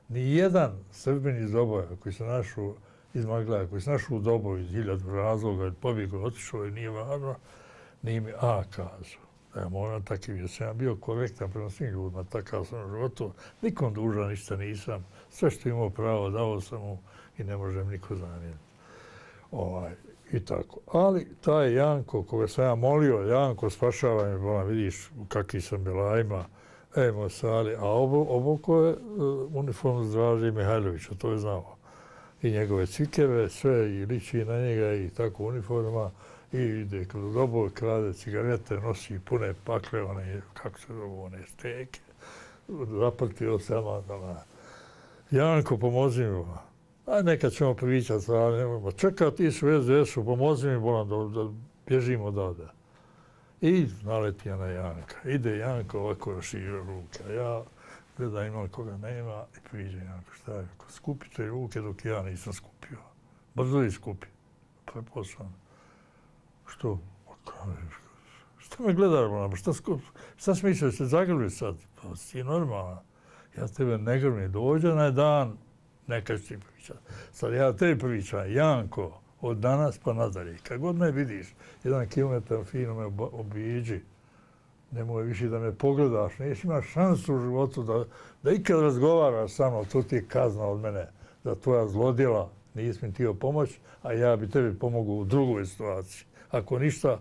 Nijedan Srbin iz Doboja koji se našao iz Magleda, koji se našao u Doboju iz hiljadu razloga, pobjegao, otišao i nije važno, nije mi a kazao. Da ja moram takav, jer sam ja bio korektan prema svim ljudima, takav sam u životu, nikom dužan ništa nisam, sve što imao pravo dao sam mu i ne možem niko zamjeniti. Ovaj, i tako. Ali taj Janko, koga sam ja molio, Janko, spašavaj me, bolam, vidiš kakvi sam belajima, ej, moj sali, a oboko je uh, uniformu Draže Mihajlovića, to je znao. I njegove cikeve, sve, i liči na njega, i tako uniforma, i ide kroz Doboj, krade cigarete, nosi pune pakle, one, kako se zovu, one steke, zapratio sama, da Janko, pomozi mi, aj nekad ćemo pričati, ali nemojmo, čekaj, ti su u S D S-u, pomozi mi, bolam, da, da bježimo odavde. I naleti na Janka. Ide Janko ovako rašira ruke, a ja gledam imam koga nema i priđe Janko, šta je, skupite ruke dok ja nisam skupio. Brzo ih skupi. Preposlan. Što? Što me gledaš, bolam, šta, šta smišljaju se zagrli sad? Pa si normalna. Ja tebe ne grlim, dođe na dan, neka ću ti pričati. Sad ja tebi pričam, Janko, od danas pa nadalje. Kad god me vidiš, jedan kilometar fino me obiđi, nemoj više da me pogledaš, neš imaš šansu u životu da, da ikad razgovaraš sa mnom, to ti je kazna od mene, da tvoja zlodjela nisi mi htio pomoć, a ja bi tebi pomogao u drugoj situaciji. Ako ništa,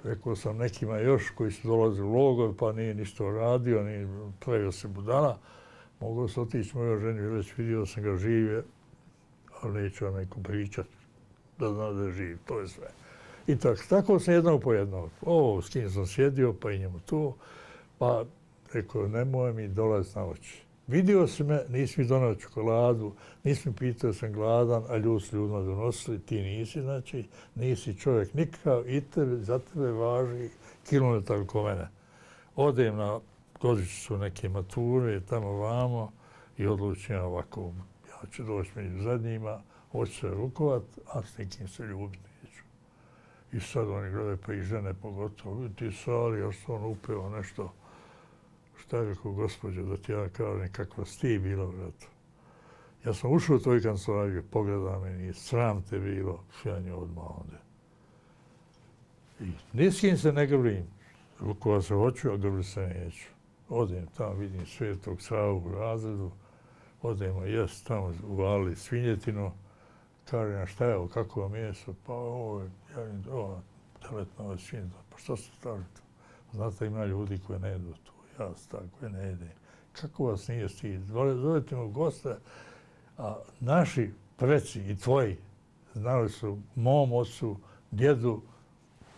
rekao sam nekima još koji su dolazili u logor, pa nije ništa radio, nije pravio se budala, mogao se otići mojoj ženi, već vidio sam ga žive, ali neću vam nekom pričat, da zna da je živ, to je sve. I tako, tako sam jednog po jednog. Ovo, s kim sam sjedio, pa i njemu to, pa rekao, nemoj mi dolaziti na oči. Vidio si me, nisi mi donao čokoladu, nisi mi pitao sam gladan, a ljudi su ljudima donosili, ti nisi, znači, nisi čovjek nikakav i tebe, za tebe važi kilometar oko mene. Odem na godišnjicu neke mature, tamo vamo i odlučim ovako, ja ću doći među zadnjima, hoću se rukovat, a s nekim se ljubiti neću. I sad oni gledaju, pa i žene pogotovo, ti sali, još se on upeo nešto. Šta je rekao, gospođo, da ti ja kažem kakva si ti bila u ratu. Ja sam ušao u toj kancelariju, pogleda meni, sram te bilo, ja nje odmah onda. I ni s kim se ne grlim, rukova se hoću, a grli se neću. Odem tamo, vidim Svetog Savu u razredu, odemo jest tamo, uvalili svinjetinu, kažem, šta je ovo, kako vam meso? Pa ovo je, ja vidim, ovo, teletna svinjetina, pa što se stavili to? Znate, ima ljudi koji ne jedu to. Ja tako ne jedem. Kako vas nije stid? Zovete me u goste, a naši preci i tvoji znali su mom ocu, djedu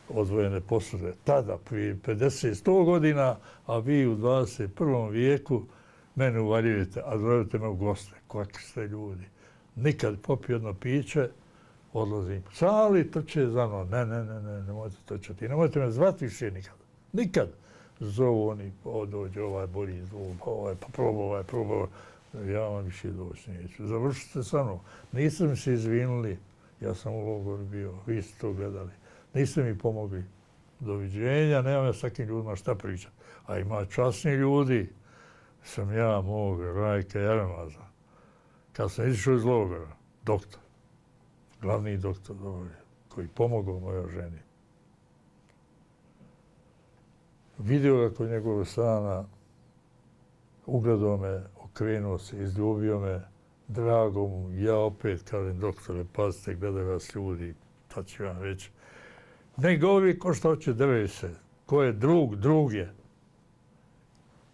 odvojene posude. Tada, prije pedeset sto godina, a vi u dvadeset prvom vijeku mene uvaljujete, a zovete me u goste. Kakvi ste ljudi. Nikad popio jedno piće, odlazim. Sali trče za mnom. Ne, ne, ne, ne, nemojte trčati. Nemojte me zvati više nikad. Nikad. Zovu oni, o, dođe, ovaj bolji zvuk, ovaj, pa probao, ovaj, probao. Ja vam više doći neću. Završite sa mnom. Niste mi se izvinuli, ja sam u logoru bio, vi ste to gledali. Niste mi pomogli. Doviđenja, nemam ja s takim ljudima šta pričati. A ima časni ljudi, sam ja, mog, Rajka Jaremaza. Kad sam izišao iz logora, doktor, glavni doktor, koji pomogao mojoj ženi. Vidio ga kod njegovog stana, ugledao me, okrenuo se, izljubio me, drago mu, ja opet kažem, doktore, pazite, gledaju vas ljudi, tad ću vam reći. Ne govori ko što hoće, drži se, ko je drug, drug je.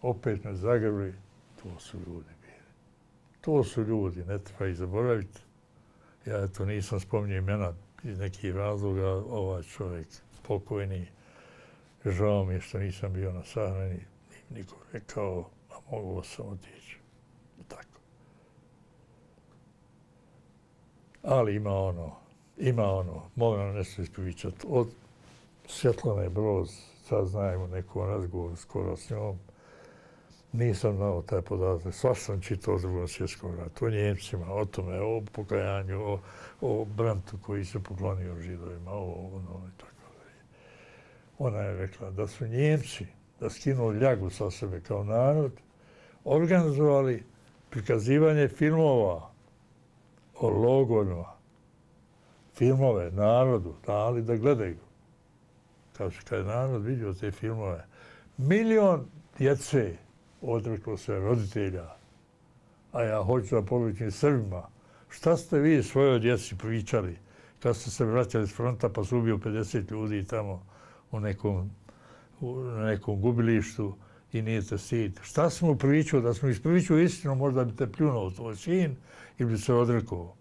Opet me zagrli, to su ljudi bili. To su ljudi, ne treba ih zaboraviti. Ja eto nisam spominjao imena iz nekih razloga, ovaj čovjek pokojni. Žao mi je što nisam bio na sahrani, niko rekao, a mogu sam otići. Tako. Ali ima ono, ima ono, mogu nam nešto ispričati. Od Svjetlane Broz, sad znajemo nekom razgovoru skoro s njom, nisam znao taj podatak. Svašta sam čitao o Drugom svjetskom ratu, o Njemcima, o tome, o pokajanju, o, o Brantu koji se poklonio Židovima, o ono i tako. Ona je rekla da su Njemci, da skinu ljagu sa sebe kao narod, organizovali prikazivanje filmova o logorima, filmove narodu, dali da gledaju. Kao što kad je narod vidio te filmove, milion djece odreklo se roditelja, a ja hoću da poručim Srbima, šta ste vi svojoj djeci pričali kad ste se vraćali s fronta pa su ubio pedeset ljudi tamo u nekom, u nekom gubilištu i nije te stid. Šta smo pričao? Da smo ispričao istinu, možda bi te pljunuo tvoj sin ili bi se odrekao.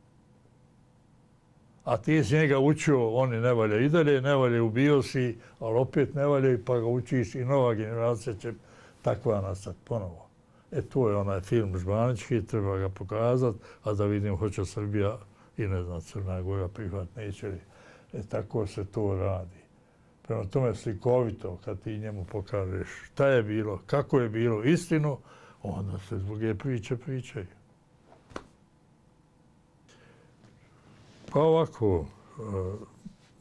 A ti si njega učio, oni ne valja i dalje, ne valja, ubio si, ali opet ne valja, pa ga učiš i nova generacija će takva nastati ponovo. E to je onaj film žbanički, treba ga pokazati, a da vidim hoće Srbija i ne znam, Crna Gora prihvat neće li. E tako se to radi. Prema tome slikovito, kad ti njemu pokažeš šta je bilo, kako je bilo istinu, onda se druge priče pričaju. Pa ovako,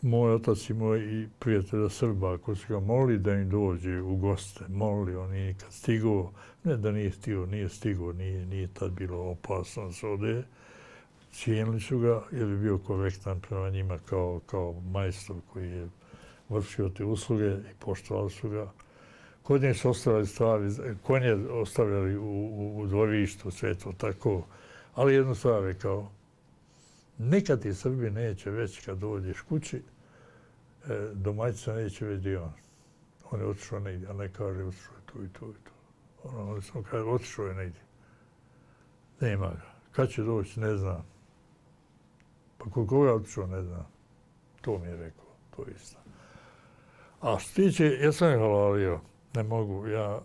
moj otac i moj prijatelja Srba, ako su ga molili da im dođe u goste, molili, on nije kad stigao, ne da nije stigao, nije stigao, nije, nije tad bilo opasno s ode, cijenili su ga jer je bio korektan prema njima kao, kao majstor koji je vršio te usluge i poštovali su ga. Kod nje su ostavljali stvari, konje ostavljali u, u, u dvorištu, sve to tako, ali jednu stvar rekao, nikad ti Srbi neće već kad dođeš kući, e, domaćica neće već dio on. On je otišao negdje, a ne kaže otišao je tu i tu i tu. Ono, on samo kaže otišao je negdje. Nema ga. Kad će doći, ne znam. Pa koliko ga otišao, ne znam. To mi je rekao, to je isto. A što tiče, ja sam je halalio, ne mogu, ja,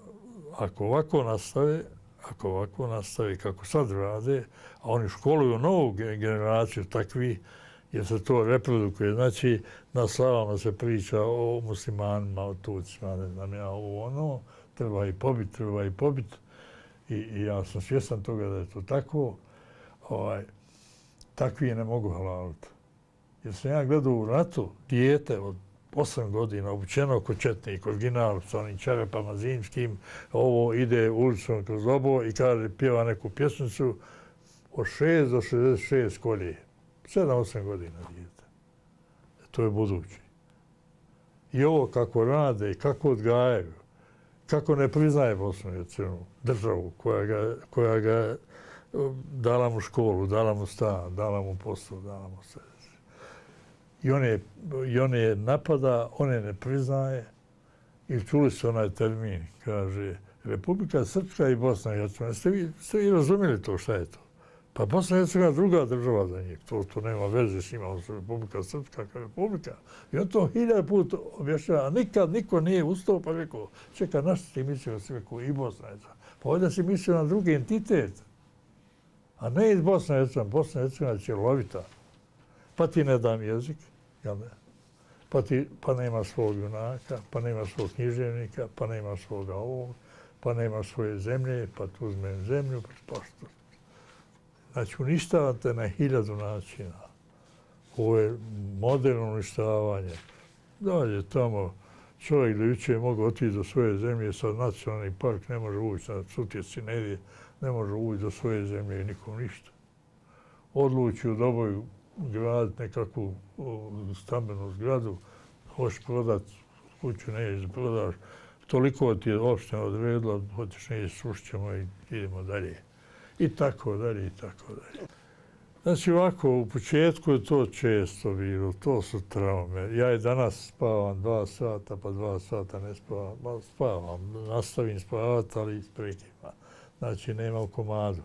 ako ovako nastave, ako ovako nastave kako sad rade, a oni školuju novu generaciju takvi, jer se to reprodukuje. Znači, na slavama se priča o muslimanima, o Turcima, ne znam ja, ovo ono, treba i pobit, treba i pobit. I, i ja sam svjestan toga da je to tako. Ovaj, takvi ne mogu halaliti. Jer sam ja gledao u ratu dijete od osam godina, obučeno kod četnika, original sa onim čarapama zimskim, ovo ide ulicom kroz obo i kaže, pjeva neku pjesnicu od šest do šezdeset šest kolje. sedam osam godina dijete. To je budući. I ovo kako rade i kako odgajaju, kako ne priznaje Bosnu i Hercegovinu, državu koja ga, koja ga dala mu školu, dala mu stan, dala mu posao, dala mu sve. I on, je, I on je napada, on je ne priznaje. I čuli su onaj termin, kaže, Republika Srpska i Bosna i Hercegovina. Ste vi, ste vi razumjeli to, šta je to? Pa Bosna i Hercegovina druga država za njih. To, to nema veze s njima, on su Republika Srpska kao Republika. I on to hiljada puta objašnjava, a nikad niko nije ustao pa rekao, čeka, na što ti mislio si rekao i Bosna i Hercegovina? Pa ovdje si mislio na drugi entitet, a ne iz Bosna i Hercegovina. Bosna i Hercegovina je cjelovita. Pa ti ne dam jezik, jel ne? Pa, ti, pa nema svog junaka, pa nema svog književnika, pa nema svoga ovog, pa nema svoje zemlje, pa tu uzmem zemlju, pa što? Znači, uništavate na hiljadu načina. Ovo je moderno uništavanje. Dalje, tamo čovjek da juče je mogao otići do svoje zemlje, sad nacionalni park ne može ući, na Sutjeci ne ide, ne može ući do svoje zemlje i nikom ništa. Odluči u Doboju graditi nekakvu stambenu zgradu, hoćeš prodati kuću, ne ideš prodaš, toliko ti je opština odredila, hoćeš ne ideš, srušit ćemo i idemo dalje. I tako dalje, i tako dalje. Znači ovako, u početku je to često bilo, to su traume. Ja i danas spavam dva sata, pa dva sata ne spavam, pa spavam, nastavim spavati, ali isprekima. Znači nema u komadu.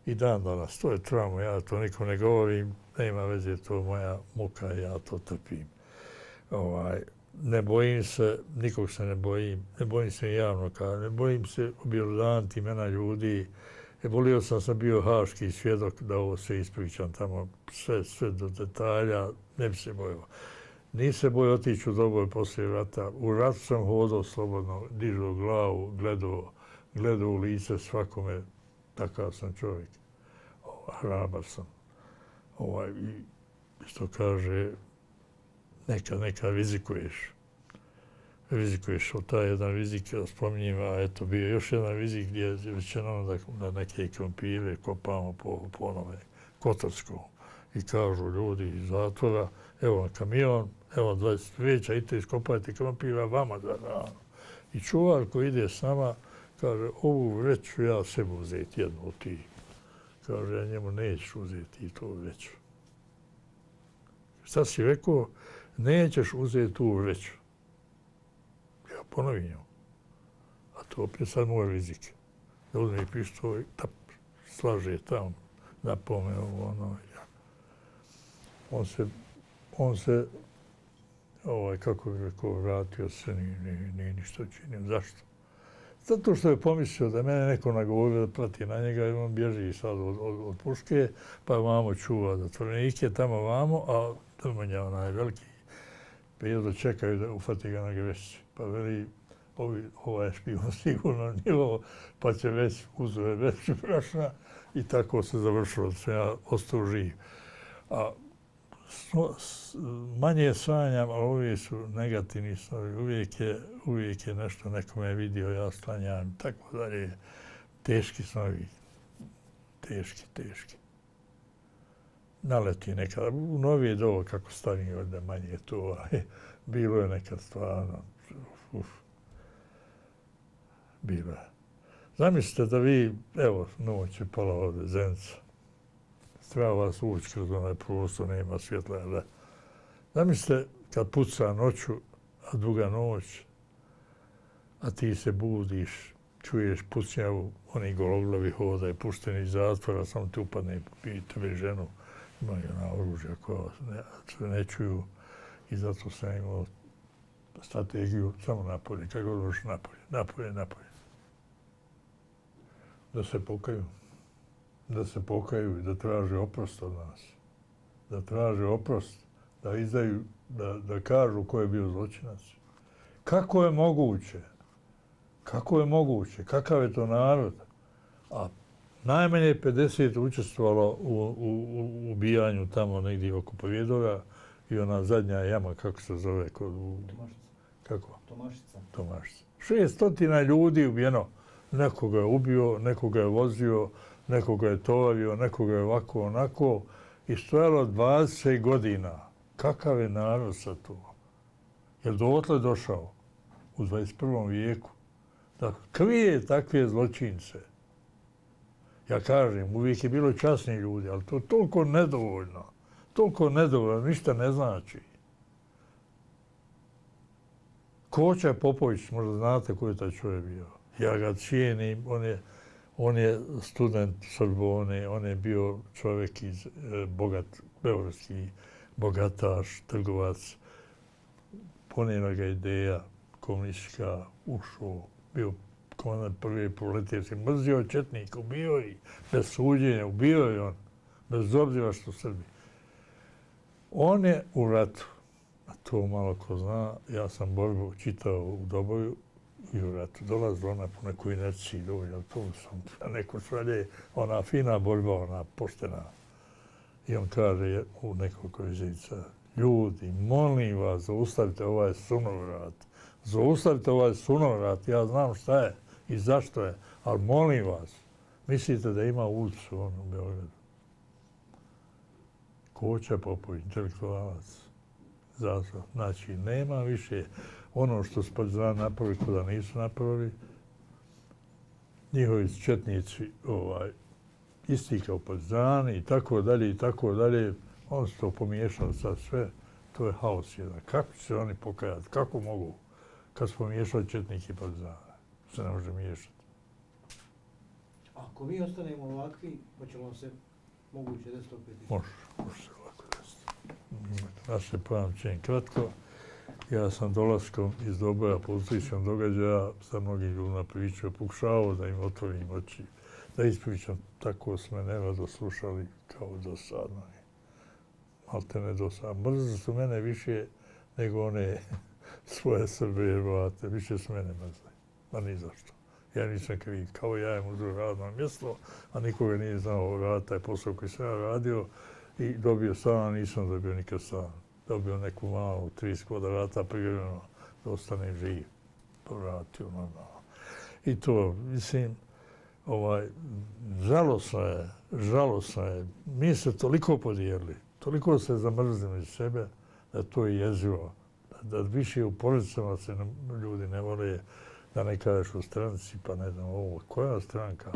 I dan danas, to je trauma, ja to nikom ne govorim, nema veze, to je moja muka, ja to trpim. Ovaj, ne bojim se, nikog se ne bojim, ne bojim se javno, kada ne bojim se objelodaniti imena ljudi. E, volio sam, sam bio haški svjedok da ovo se ispričam tamo, sve, sve do detalja, ne bi se bojao. Nisam se bojao otići u Doboj poslije rata. U ratu sam hodao slobodno, dižao glavu, gledao, gledao u lice svakome. Takav sam čovjek. Hrabar sam. Ovaj, i što kaže, nekad, nekad rizikuješ. Rizikuješ od taj jedan rizik, spominjem, a eto bio još jedan rizik gdje je rečeno da, da neke krompire kopamo po, po onome Kotarskom. I kažu ljudi iz zatvora, evo na kamion, evo dvadeset veća, idite iskopajte krompira vama za rano. I čuvar koji ide s nama, kaže, ovu vreću ja sebi uzeti jednu od tih. Kaže, ja njemu neću uzeti i tu vreću. Šta si rekao? Nećeš uzeti tu vreću. Ja ponovim njemu. A to opet sad moj rizik. Da uzme i pištolj, tap, slaže tamo, napome ovo, ono. Ja. On se, on se, ovaj, kako bih rekao, vratio se, nije, nije, nije ništa činio. Zašto? Zato što je pomislio da mene neko nagovorio da prati na njega i on bježi sad od, od, od puške, pa vamo čuva zatvorenike, tamo vamo, a Drmanja, onaj veliki, bio da čekaju da ufati ga na grešci. Pa veli, ovi, ovaj špijun sigurno nivo, pa će već uzove veću prašna i tako se završilo da sam ja ostao živ. A manje sanjam, ali uvijek su negativni snovi. Uvijek je, uvijek je nešto nekome vidio, ja sklanjam, tako dalje. Teški snovi. Teški, teški. Naleti nekada. U novije dovo, kako stavim ovdje, manje je to. Bilo je nekad stvarno. Uf. Bilo je. Zamislite da vi, evo, noć je pala ovdje, Zenica. Treba vas ući kroz onaj prostor, nema svjetla. Da. Zamislite, kad puca noću, a duga noć, a ti se budiš, čuješ pucnjavu, oni gologlavi hodaju, pušteni iz zatvora, samo ti upadne i tebe ženu, imaju na oružja koja ne, ne čuju i zato sam imao strategiju samo napolje, kako god možeš napolje, napolje, napolje. Da se pokaju, da se pokaju i da traže oprost od nas, da traže oprost, da izdaju, da, da kažu ko je bio zločinac. Kako je moguće? Kako je moguće? Kakav je to narod? A najmanje pedeset učestvovalo u, u, u ubijanju tamo negdje oko Povjedora i ona zadnja jama, kako se zove? Kod, u, Tomašica. Kako? Tomašica. Tomašica. Šestotina ljudi ubijeno. Nekoga je ubio, nekoga je vozio, nekoga je tovario, nekoga je ovako, onako. I stojalo dvadeset godina. Kakav je narod sad tu? Je li dotle došao u dvadeset prvom vijeku da krije takve zločince? Ja kažem, uvijek je bilo časni ljudi, ali to je toliko nedovoljno. Toliko nedovoljno, ništa ne znači. Koča Popović, možda znate ko je taj čovjek bio. Ja ga cijenim, on je, on je student Sorbone, on je bio čovjek iz e, bogat, beogradski bogataš, trgovac, ponijela ga ideja komunistička, ušao, bio komandant prve proletarske, mrzio četnika, ubio i bez suđenja, ubio je on, bez obzira što Srbi. On je u ratu, a to malo ko zna, ja sam borbu čitao u Doboju i u ratu. Dolazila ona po nekoj inerciji dovolj, ali to sam neko šalje, ona fina borba, ona poštena. I on kaže u nekoliko vizica, ljudi, molim vas, zaustavite ovaj sunovrat. Zaustavite ovaj sunovrat, ja znam šta je i zašto je, ali molim vas, mislite da ima ulicu on u Beogradu. Koča Popović, intelektualac, zato. Znači, nema više ono što su partizani napravili, ko da nisu napravili. Njihovi četnici, ovaj, isti kao partizani i tako dalje i tako dalje. On se to pomiješao sad sve. To je haos jedan. Kako će se oni pokajati? Kako mogu? Kad su pomiješali četnike i partizane. Se ne može miješati. Ako mi ostanemo ovakvi, hoće vam se moguće desiti opet? Može, može se ovako desiti. Naše pamćenje kratko. Ja sam dolaskom iz Doboja političkom događaja sa mnogim ljudima pričao, pokušavao da im otvorim oči, da ispričam, tako su me nerado slušali kao dosadno. Malte ne dosadno. Mrzli su mene više nego one svoje Srbe i Hrvate. Više su mene mrzli. Ma ni zašto. Ja nisam kriv. Kao ja im uzeo radno mjesto, a nikoga nije znao raditi taj posao koji sam ja radio i dobio stan, nisam dobio nikad stan. Dobio neku malu trideset kvadrata privremeno da ostanem živ. Povratio normalno. I to, mislim, ovaj, žalosno je, žalosno je. Mi se toliko podijelili, toliko se zamrzili iz sebe da to je jezivo. Da, da više u porodicama se ne, ljudi ne vole, da ne kažeš u stranci, pa ne znam ovo, koja stranka.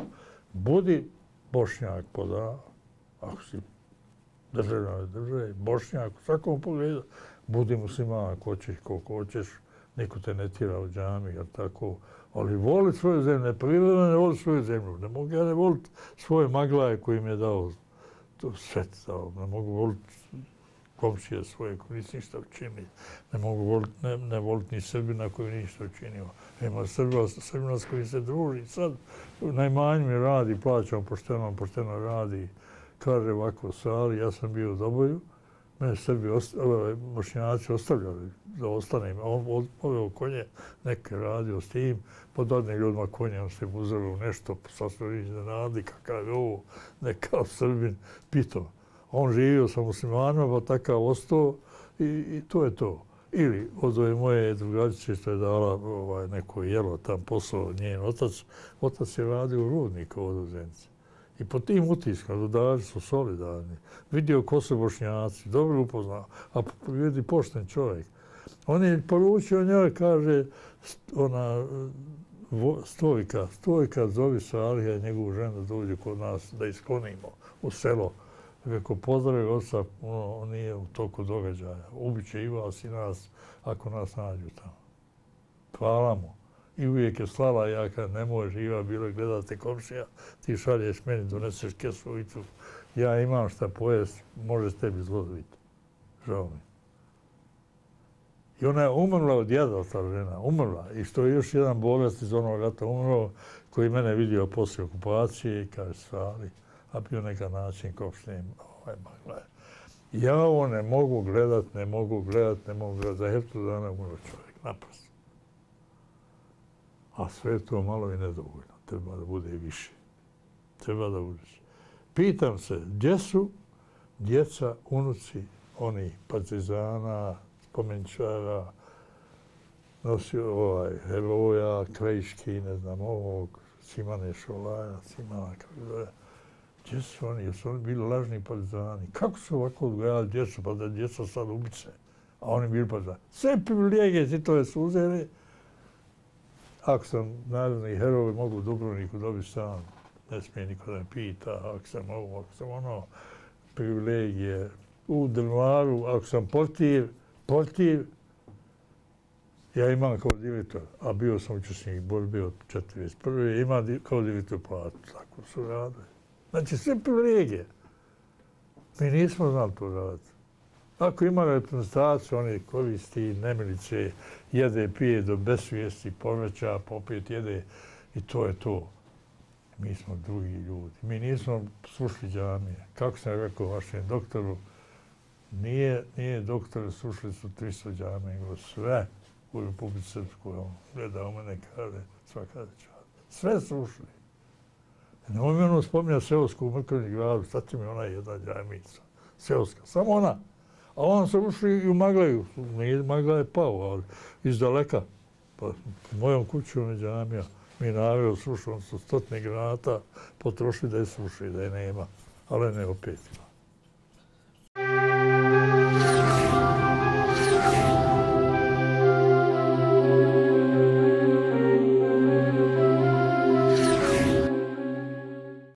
Budi Bošnjak pod A, ako si državljane države, Bošnjak, u svakom pogledu, budi musliman ako hoćeš, koliko hoćeš, niko te ne tira u džami, jer tako, ali voli svoju zemlju, ne prirodno ne voli svoju zemlju, ne mogu ja ne voliti svoje maglaje koji mi je dao to svet, dao. Ne mogu voliti komšije svoje koji nisu ništa učinili, ne mogu voliti, ne, ne voliti ni Srbina koji ništa učinio. Ima Srbina, Srbina s koji se druži, sad najmanju mi radi, plaćam pošteno, pošteno radi, kaže ovako sali, ja sam bio u Doboju, mene Srbi, Bošnjaci ostavljali da ostanem. On poveo konje, neke radio s tim, pod odnim ljudima konje, on se uzelo u nešto, sasvim iznenadi, kakav je ovo, nekav Srbin, pitao. On živio sa muslimanima, pa takav ostao i, i to je to. Ili od ove moje drugačice što je dala ovaj, neko jelo tam posao njen otac, otac je radio u rudniku od Zenice. I po tim utiskama, dodari su solidarni. Vidio ko su Bošnjaci, dobro upoznao, a vidi pošten čovjek. On je poručio njoj, kaže, ona Stojka, Stojka zove Salija i njegovu ženu da dođe kod nas da isklonimo u selo Kako pozdravi oca, ono, on nije u toku događaja. Ubiće i vas i nas, ako nas nađu tamo. Hvala mu. I uvijek je slala, ja kad ne može živa bilo gledate komšija, ti šalješ meni, doneseš kesu i tu. Ja imam šta pojest, može s tebi zlodviti. Žao mi. I ona je umrla od jada, ta žena, umrla. I što je još jedan bolest iz onog rata umrlo, koji mene vidio poslije okupacije i kaže svali, a bio neka način kao što im ovaj magla. Ja ovo ne mogu gledat, ne mogu gledat, ne mogu gledat. Za heftu dana umro čovjek, naprosto. A sve to malo i nedovoljno. Treba da bude i više. Treba da bude više. Pitam se, gdje su djeca, unuci, oni partizana, spomeničara, nosio ovaj heroja, Krajiški, ne znam, ovog, Simane Šolaja, Simana, kako zove. Gdje su oni? Jesu oni bili lažni partizani? Kako su ovako odgojali djecu, pa da djeca sad ubice? A oni bili partizani. Sve privilegije titove su uzeli. Ako sam narodni heroj, mogu u Dubrovniku dobiti stan. Ne smije niko da me pita, ako sam ovo, ako sam ono, privilegije. U Drvaru, ako sam portir, portir, ja imam kao direktor, a bio sam učesnik borbe od četrdeset prve ima kao direktor platu, tako su radili. Znači, sve privilegije. Mi nismo znali to raditi. Ako ima reprezentaciju, oni koristi nemilice, jede, pije do besvijesti, poveća, popet jede i to je to. Mi smo drugi ljudi. Mi nismo slušli džamije. Kako sam rekao vašem doktoru, nije, nije doktor, slušali su tristo džamije, nego sve u Republici Srpskoj. On gleda u mene, kaže, svaka čast. Sve slušali. Nemoj mi ono spominjati seosku u Mrkovni gradu, sad će mi ona jedna džamica. Seoska, samo ona. A on se ušli i u Magleju. Magla je pao, ali iz daleka. Pa mojom kućom je džamija. Mi naveo slušali su stotne granata, potrošili da je slušali, da je nema. Ali ne opet ima.